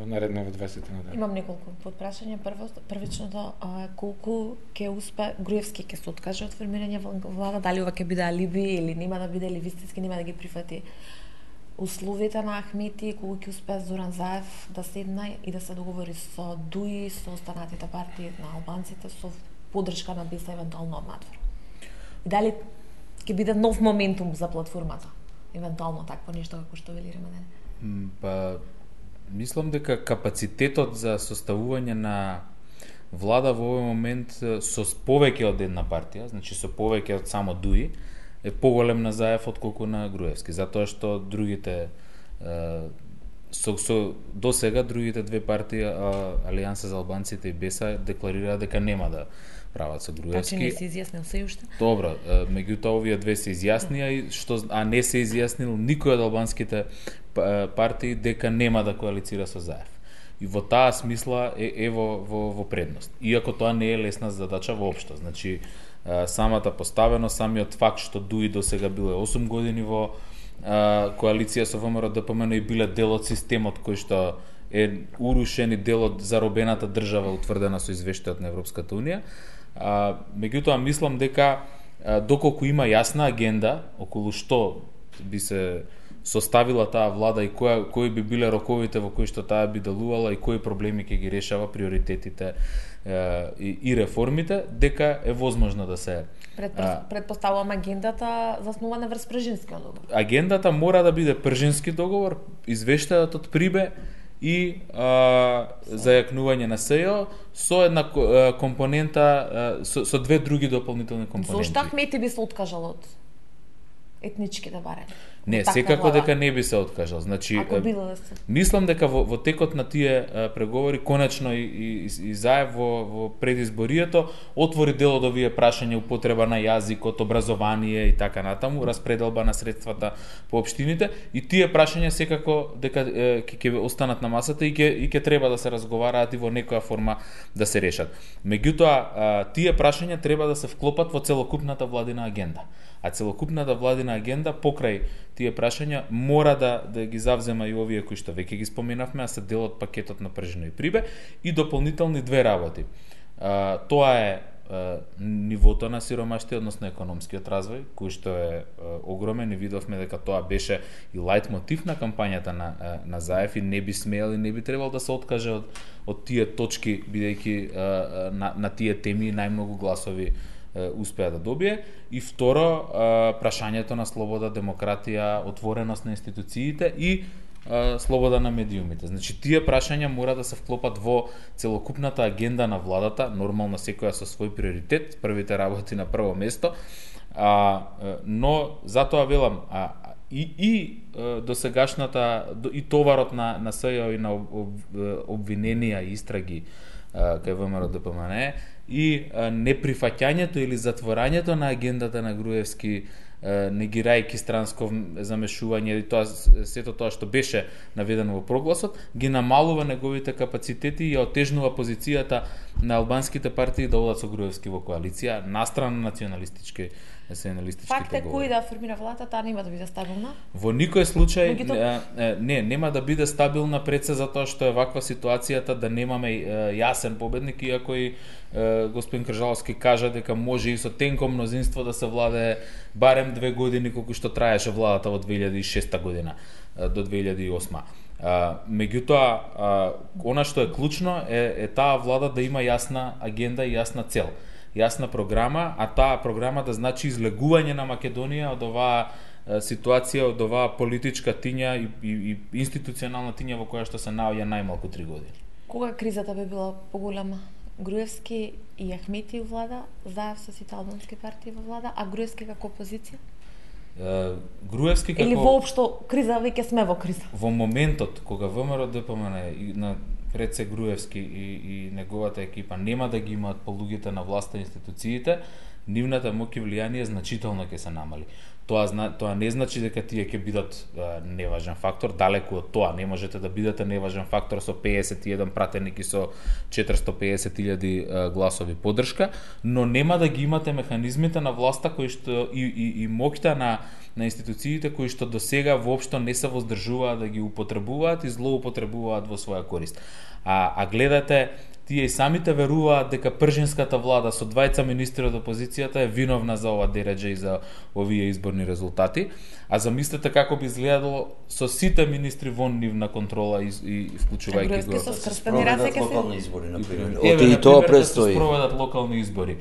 наредниот дваесет на ден. Имам неколку подпрашања. Прво, првичното, колку ќе успе Груевски ќе се откаже од формирање влада, дали ова ќе биде алиби или нема да биде, или вистински нема да ги прифати условите на Ахмети, колку ќе успее Зоран Заев да седне и да се договори со ДУИ, со останатите партии на албанците, со поддршка на БЕС евентуално од надвор. И дали ќе биде нов моментум за платформата, евентуално такво нешто како што вели Рамадан? Па мислам дека капацитетот за составување на влада во овој момент со повеќе од една партија, значи со повеќе од само ДУИ, е поголем на Заев отколку на Груевски, затоа што другите со, со до сега другите две партии, Алијанса за албанците и БЕСА, декларираа дека нема да прават со Груевски. Значи не се изјаснил се уште? Добро, меѓутоа овие две се изјаснија и што а не се изјаснил никој од албанските партии дека нема да коалицира со Заев. И во таа смисла е ево во, во предност. Иако тоа не е лесна задача воопшто. Значи самата поставеност, самиот факт што ДУИ до сега биле осум години во а, коалиција со ВМРО-ДПМН и биле дел од системот кој што е урушен и дел од заробената држава утврдена со извештајот на Европската унија. А, меѓутоа мислам дека а, доколку има јасна агенда околу што би се составила таа влада и која кои би биле роковите во кои што таа би делувала и кои проблеми ќе ги решава, приоритетите е, и, и реформите, дека е возможно да се Предпоставувам агендата заснувана врз пржинскиот договор. Агендата мора да биде пржински договор, извештајот од Прибе и а, зајакнување на СЕО со една компонента, со, со две други дополнителни компоненти. Зошто Ахмети би се откажал од етничките барања? Не, секако дека не би се откажал. Значи, Ако било да се. Мислам дека во, во текот на тие а, преговори, конечно и, и, и Заев во, во предизборието, отвори дел од овие прашања, употреба на јазикот, образование и така натаму, распределба на средствата по општините, и тие прашања секако дека ќе ќе останат на масата и ќе и ќе треба да се разговараат и во некоја форма да се решат. Меѓутоа, тие прашања треба да се вклопат во целокупната владина агенда. А целокупната владина агенда покрај тие прашања мора да да ги завзема и овие кои што веќе ги споменавме, а се дел од пакетот на Пржино и Прибе, и дополнителни две работи. А, тоа е а, нивото на сиромаштие, односно економскиот развој, кој што е а, огромен, и видовме дека тоа беше и лајт мотив на кампањата на а, на Заев, и не би смеел и не би требал да се откаже од од тие точки, бидејќи а, на на тие теми најмногу гласови успеа да добие. И второ, прашањето на слобода, демократија, отвореност на институциите и слобода на медиумите. Значи, тие прашања мора да се вклопат во целокупната агенда на владата, нормално секоја со свој приоритет, првите работи на прво место, а, но затоа велам, а, и, и досегашната, и товарот на, на СЈО и на обвиненија и истраги кај ВМРО Д П М Н и неприфаќањето или затворањето на агендата на Груевски, негирајќи странско замешување и тоа, сето тоа што беше наведено во прогласот, ги намалува неговите капацитети и отежнува позицијата на албанските партии да одат со Груевски во коалиција, настрана националистички националистички Факт е кој да формира владата, таа нема да биде стабилна? Во никој случај Мегуто... не, нема да биде стабилна пред се затоа што е ваква ситуацијата да немаме јасен победник, иако и господин Кржаловски кажа дека може и со тенко мнозинство да се владее барем две години колку што траеше владата во две илјади и шеста година до две илјади и осма. Uh, меѓутоа, uh, она што е клучно е, е таа влада да има јасна агенда и јасна цел, јасна програма, а таа програма да значи излегување на Македонија од оваа uh, ситуација, од оваа политичка тиња и, и, и институционална тиња во која што се наоѓа најмалку три години. Кога кризата би била поголема? Груевски и Ахмети во влада, Заев со сите албански партии во влада, а Груевски како опозиција? Груевски како... Или воопшто криза, веќе сме во криза? Во моментот кога ВМРО Д П М Н и на пред се Груевски и, и неговата екипа нема да ги имаат по луѓето на власта и институциите, нивната моќ и влијание значително ќе се намали. Тоа, тоа не значи дека тие ќе бидат а, неважен фактор, далеку од тоа. Не можете да бидете неважен фактор со пеесет и еден пратеник и со четиристо и пеесет илјади гласови поддршка, но нема да ги имате механизмите на власта кои што и, и, и моќта на на институциите кои што досега воопшто не се воздржуваат да ги употребуваат и злоупотребуваат во своја корист. А, а гледате, тие и самите веруваат дека пржинската влада со двајца министри од опозицијата е виновна за ова дередже и за овие изборни резултати. А замислете како би изгледало со сите министри вон нивна контрола и, и вклучувајќи го. Се спроведат локални избори, например. Еве, и тоа престои. Да се спроведат локални избори.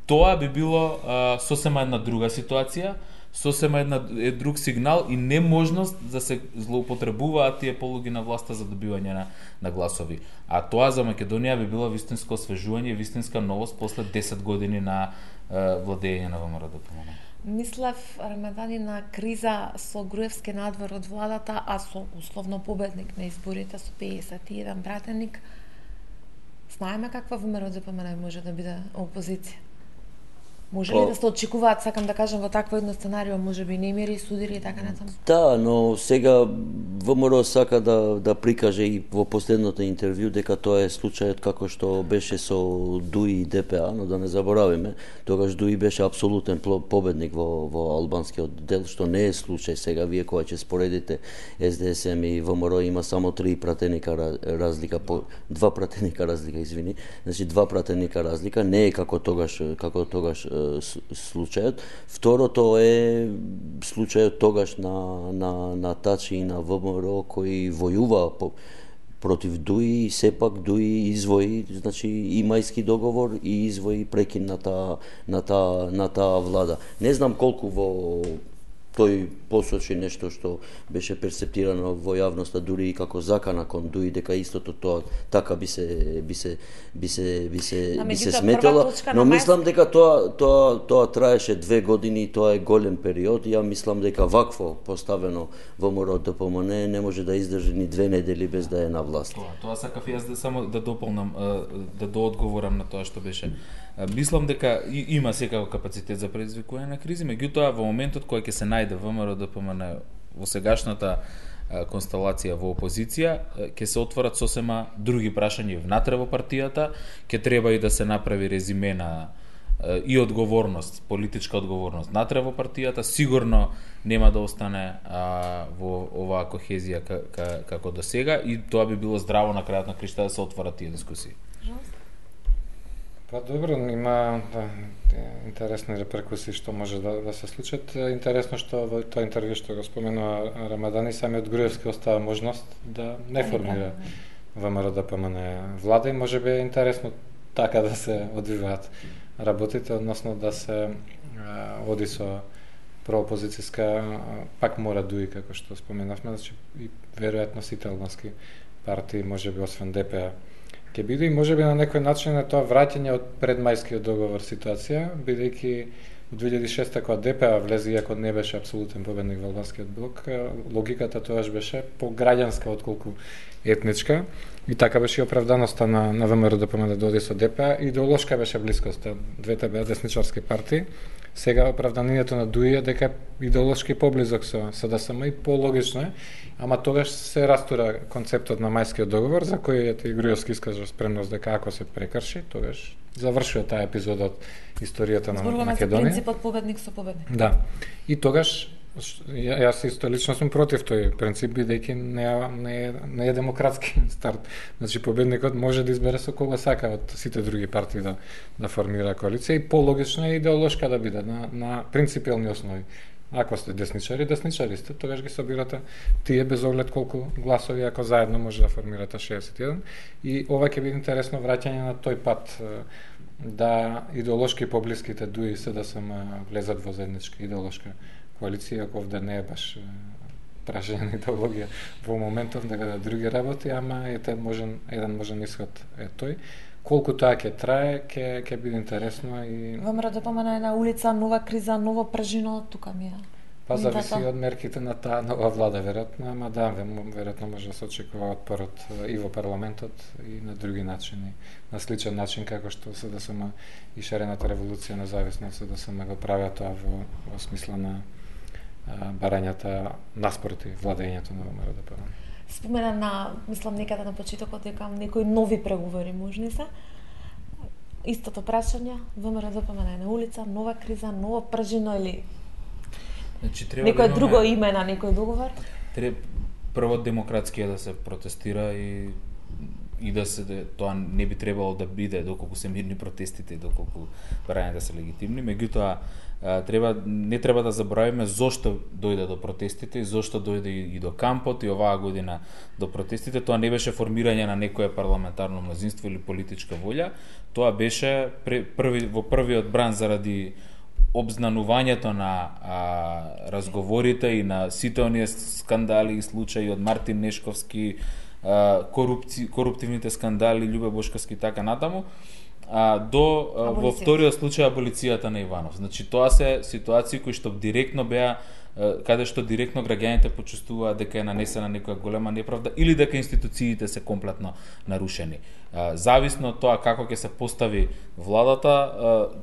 Тоа би било а, сосема една друга ситуација, сосема една е друг сигнал и неможност да се злоупотребуваат тие полуги на власта за добивање на, на гласови. А тоа за Македонија би било вистинско освежување, вистинска новост после десет години на е, владење на ВМРО Д П М Н. Мислев Рамадани на криза со Груевски надвор од владата, а со условно победник на изборите со пеесет и еден пратеник. Знаеме каква ВМРО Д П М Н може да биде опозиција. Може ли да се очекуваат, сакам да кажам, во такво едно сценарио, може би немири, судири и така натаму? Да, но сега ВМРО сака да да прикаже и во последното интервју дека тоа е случајот како што беше со Дуи и Д П А, но да не заборавиме, тогаш Дуи беше апсолутен победник во во албанскиот дел, што не е случај сега. Вие кога ќе споредите С Д С М и ВМРО има само три пратеника разлика, по два пратеника разлика, извини. Значи два пратеника разлика, не е како тогаш како тогаш случајот. Второто е случајот тогаш на на на Тачи и на ВМРО кои војува по, против Дуи, сепак Дуи извои, значи и мајски договор и извои прекин на таа на таа на таа влада. Не знам колку во тој посочи нешто што беше перцептирано во јавноста дури и како закана кон Дуи, дека истото тоа така би се би се би се би се би се сметало, но мислам дека тоа тоа тоа траеше две години и тоа е голем период. Ја мислам дека вакво поставено ВМРО ДПМН не може да издржи ни две недели без да е на власт. Тоа, тоа сакав јас да само да дополнам, да доодговорам на тоа што беше. Мислам дека има секако капацитет за предизвикување на кризи, меѓутоа во моментот кога ќе се најде ВМРО ДПМН во сегашната констелација во опозиција, ќе се отворат сосема други прашања внатре во партијата, ќе треба и да се направи резиме на и одговорност, политичка одговорност внатре во партијата, сигурно нема да остане а, во оваа кохезија како до сега и тоа би било здраво на крајот на кришта да се отворат тие дискусии. Па добро, има да, интересни реперкусии што може да, да се случат. Интересно што во тоа интервју што го споменува Рамадани, самиот Груевски остава можност да не формира ВМРО ДПМН влада и може би е интересно така да се одвиваат работите, односно да се а, оди со проопозицијска, пак мора Дуи, како што споменавме, значи и веројатно сите албански партии, може би освен ДП ќе биде и може би на некој начин е тоа враќање од предмајскиот договор ситуација, бидејќи во две илјади и шеста кога ДП влезе, иако не беше апсолутен победник во албанскиот блок, логиката тоаш беше пограѓанска отколку етничка и така беше и оправданоста на, на ВМРО ДПМН да доди со ДП, идеолошка беше блискоста, двете беа десничарски партии. Сега оправданието на Дуи е дека идеолошки поблизок со, со ДСМ и пологично е, ама тогаш се растура концептот на мајскиот договор, за кој и Груевски искажа спремност дека ако се прекрши, тогаш завршува таа епизода од историјата на Зборуваме Македонија. Зборуваме за принципот победник со победник. Да. И тогаш јас исто лично сум против тој принцип, бидејќи не, не, не е демократски старт. Значи победникот може да избере со кого сака од сите други партии да, да формира коалиција и пологично е идеолошка да биде на, на принципиални основи. Ако сте десничари, десничари сте, тогаш ги собирате тие без оглед колку гласови, ако заедно може да формирате шеесет и еден. И ова ќе биде интересно враќање на тој пат да идеолошки поблиските Дуи се да се влезат во заедничка идеолошка коалиција, ако овде не е баш прашање на идеологија во моментов дека да други работи, ама ете можен еден можен исход е тој. Колку тоа ќе трае, ќе ќе биде интересно и ВМРО ДПМН е на улица, нова криза, ново пражино, тука ми е. Па зависи од мерките на таа нова влада веројатно, ама да, веројатно може да се очекува отпорот и во парламентот и на други начини, на сличен начин како што СДСМ и шарената револуција независно од СДСМ го правеа тоа во, во смисла на барањата наспроти владењето на ВМРО ДПМН. Спомена на, мислам, некаде на почетокот дека некои нови преговори можни се. Истото прашање, ВМРО ДПМН е на улица, нова криза, ново пржино или значи, треба некој да друго имаме... име на некој договор? Треба прво демократски да се протестира и и да се тоа не би требало да биде доколку се мирни протестите и доколку барањата се легитимни, меѓутоа треба не треба да заборавиме зошто дојде до протестите и зошто дојде и до кампот и оваа година до протестите. Тоа не беше формирање на некое парламентарно мнозинство или политичка волја, тоа беше први во првиот бран заради обзнанувањето на а, разговорите и на сите оние скандали и случаи од Мартин Нешковски, корупци, коруптивните скандали, Љубе Бошковски и така натаму, а, до а, во вториот случај аболицијата на Иванов. Значи тоа се ситуации кои што директно беа каде што директно граѓаните почувствуваат дека е нанесена некоја голема неправда или дека институциите се комплетно нарушени. Зависно од тоа како ќе се постави владата,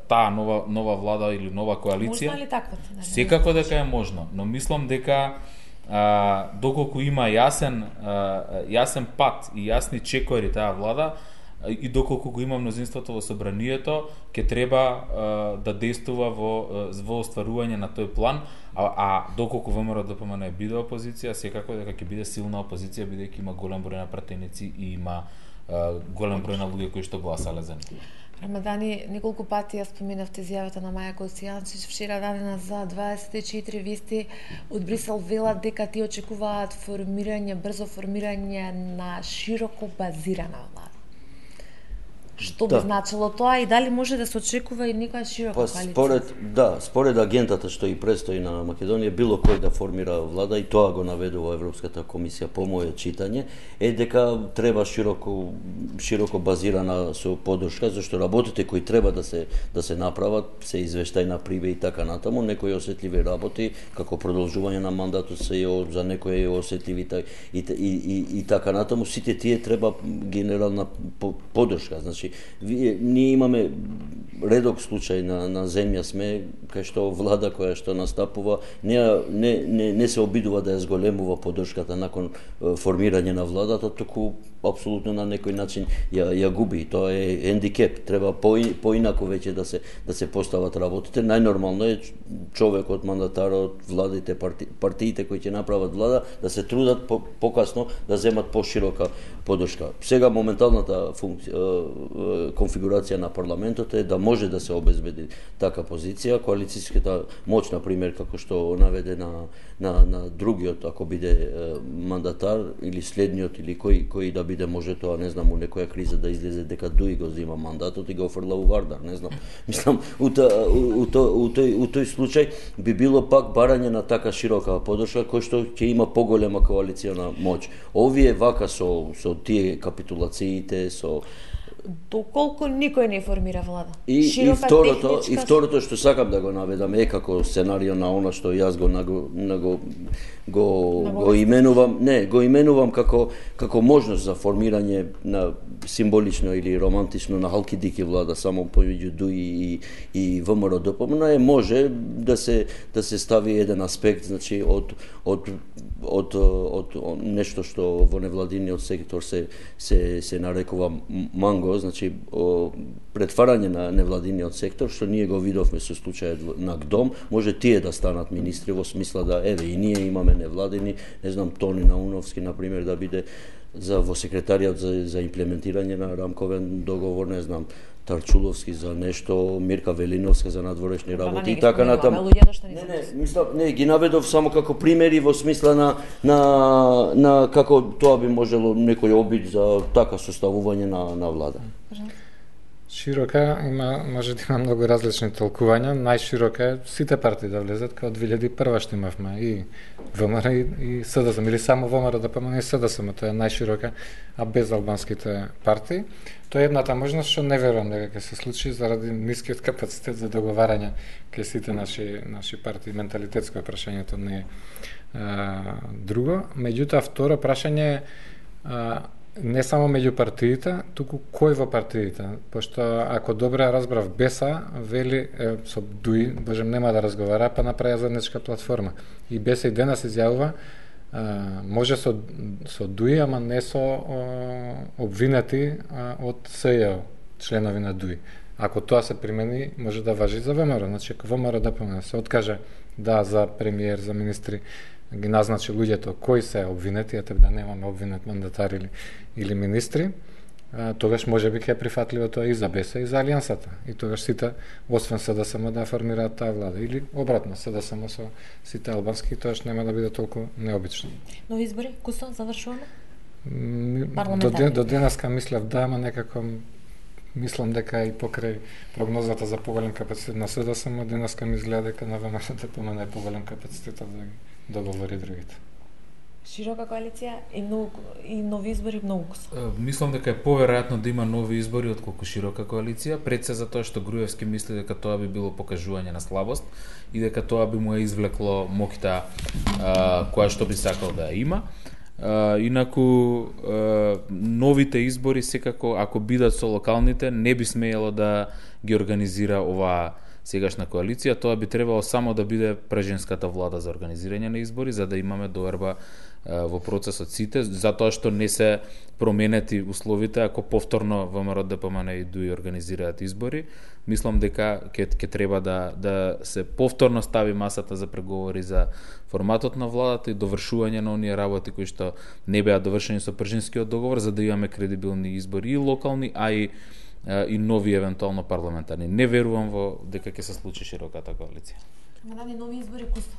таа нова нова влада или нова коалиција. Можно ли таквото? Секако дека е можно, но мислам дека а, доколку има јасен а, јасен пат и јасни чекори таа влада и доколку го има мнозинството во собранието, ќе треба а, да действува во во остварување на тој план, а, а доколку ВМРО ДПМН биде опозиција, секако дека ќе биде силна опозиција бидејќи има голем број на пратеници и има а, голем број на луѓе кои што гласале за него. Рамадани, неколку пати ја споменавте изјавата на Маја Којсијанчич вчера дадена за дваесет и четири вести од Брисел, велат дека ти очекуваат формирање, брзо формирање на широко базирана влада. Што би Да. значило тоа и дали може да се очекува и некоја широка Па коалиција? според да, според агентата што и предстои на Македонија, било кој да формира влада, и тоа го наведува Европската комисија по моје читање, е дека треба широко широко базирана со поддршка, зашто работите кои треба да се да се направат се извештај на прибе и така натаму, некои осетливи работи како продолжување на мандатот се и за некои осетливи и, и, и, и така натаму, сите тие треба генерална поддршка. Значи вие, ние имаме редок случај на, на земја сме, кај што влада која што настапува не, не, не, не се обидува да ја зголемува поддршката након е, формирање на владата, току апсолутно на некој начин ја, ја губи. Тоа е хендикеп. Треба по, поинако веќе да се да се постават работите. Најнормално е човекот, мандатарот, владите, парти, партиите кои ќе направат влада да се трудат по, покасно да земат поширока поддршка. Сега моменталната функција, конфигурација на парламентот е да може да се обезбеди така позиција. Коалицијската моќ, на пример, како што наведе на, на, на другиот, ако биде е, мандатар или следниот или кој кој да биде, може тоа, не знам, у некоја криза да излезе дека Дуи го зема мандатот и го офрла у Вардар, не знам. Мислам, у, та, у, у, у, тој, у тој случај би било пак барање на така широка поддршка кој што ќе има поголема коалицијна моќ. Овие вака со со тие капитулациите, со Доколку никој не формира влада. И, Широка и второто, техничка... и второто што сакам да го наведам е како сценарио на она што јас го го го го, го именувам, не, го именувам како како можност за формирање на символично или романтично на Халкидики влада само помеѓу Дуи и и ВМРО ДПМН е може да се да се стави еден аспект, значи од од од од, од нешто што во невладиниот сектор се се се нарекува манго, значи о, претварање на невладиниот сектор, што ние го видовме со случајот на ГДОМ, може тие да станат министри во смисла да еве и ние имаме невладини, не знам, Тони Науновски на пример да биде за во секретаријат за за имплементирање на рамковен договор, не знам, Тарчуловски за нешто, Мирка Велиновска за надворешни работи и така натаму. Не, не, мислам, не, ги наведов само како примери во смисла на на на како тоа би можело некој обид за така составување на на влада. Широка има, може да има многу различни толкувања. Најширока е сите партии да влезат, као две илјади и прва што имавме и ВМРО и, и СДСМ, или само ВМРО да помне и СДСМ, тоа е најширока, а без албанските партии. Тоа е едната можност што не верувам дека ќе се случи заради нискиот капацитет за договарање кај сите наши наши партии. Менталитетско е прашањето, не е а, друго. Меѓутоа, второ прашање е не само меѓу партиите, туку кој во партиите, пошто ако добро ја разбрав Беса, вели е, со Дуи, божем нема да разговара, па направи заедничка платформа. И Беса и денес изјавува, а, може со, со Дуи, ама не со о, обвинети а, од СЈО, членови на Дуи. Ако тоа се примени, може да важи за ВМРО. Значи, ако ВМРО да помне, се откаже да за премиер, за министри, ги назначи луѓето кои се обвинети, ете да немаме обвинет мандатар или, или министри, а, тогаш може би ќе е прифатливо тоа и за Беса и за Алијансата. И тогаш сите, освен СДСМ, да формираат таа влада. Или обратно, СДСМ со сите албански, тогаш нема да биде толку необично. Нови избори, Кусто, завршуваме? До, ден, до денеска мислев да, ама некако мислам дека и покрај прогнозата за поголем капацитет на СДСМ, денеска ми изгледа дека на ВМРО да помена поголем капацитет да ги договори другите. Широка коалиција и, многу, и нови избори многу Кусто. Мислам дека е поверојатно да има нови избори отколку широка коалиција, пред се за тоа што Груевски мисли дека тоа би било покажување на слабост и дека тоа би му ја извлекло моќта која што би сакал да ја има. Uh, инаку uh, новите избори секако ако бидат со локалните не би смеело да ги организира оваа сегашна коалиција, тоа би требало само да биде праженската влада за организирање на избори за да имаме доверба uh, во процесот сите, затоа што не се променети условите ако повторно ВМРО ДПМН и Дуи организираат избори. Мислам дека ќе ќе треба да да се повторно стави масата за преговори за форматот на владата и довршување на оние работи кои што не беа довршени со пржинскиот договор за да имаме кредибилни избори и локални, а и и нови евентуално парламентарни. Не верувам во дека ќе се случи широката коалиција. Има дани нови избори, Кусто?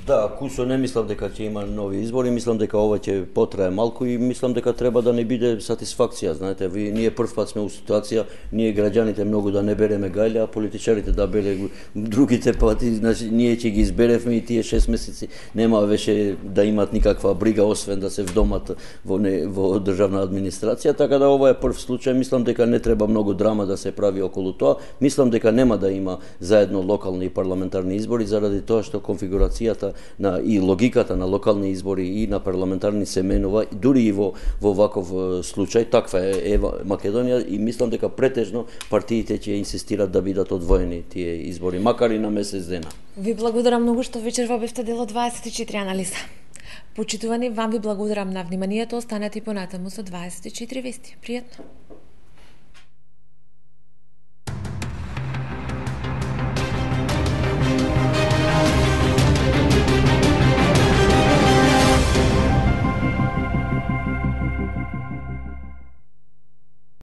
Да, Кусо не мислам дека ќе има нови избори, мислам дека ова ќе потрае малку и мислам дека треба да не биде сатисфакција, знаете, ви ние прв пат сме у ситуација, ние граѓаните многу да не береме гајле, а политичарите да бере другите пати, значи ние ќе ги изберевме и тие шест месеци нема веше да имат никаква брига освен да се вдомат во не, во државна администрација, така да ова е прв случај, мислам дека не треба многу драма да се прави околу тоа, мислам дека нема да има заедно локални и парламентарни избори заради тоа што конфигурацијата на и логиката на локални избори и на парламентарни се менува дури и во во ваков случај, таква е ева Македонија и мислам дека претежно партиите ќе инсистираат да бидат одвоени тие избори, макар и на месец дена. Ви благодарам многу што вечерва бевте дел од дваесет и четири анализа. Почитувани, вам ви благодарам на вниманието, останете и понатаму со дваесет и четири вести. Пријатно.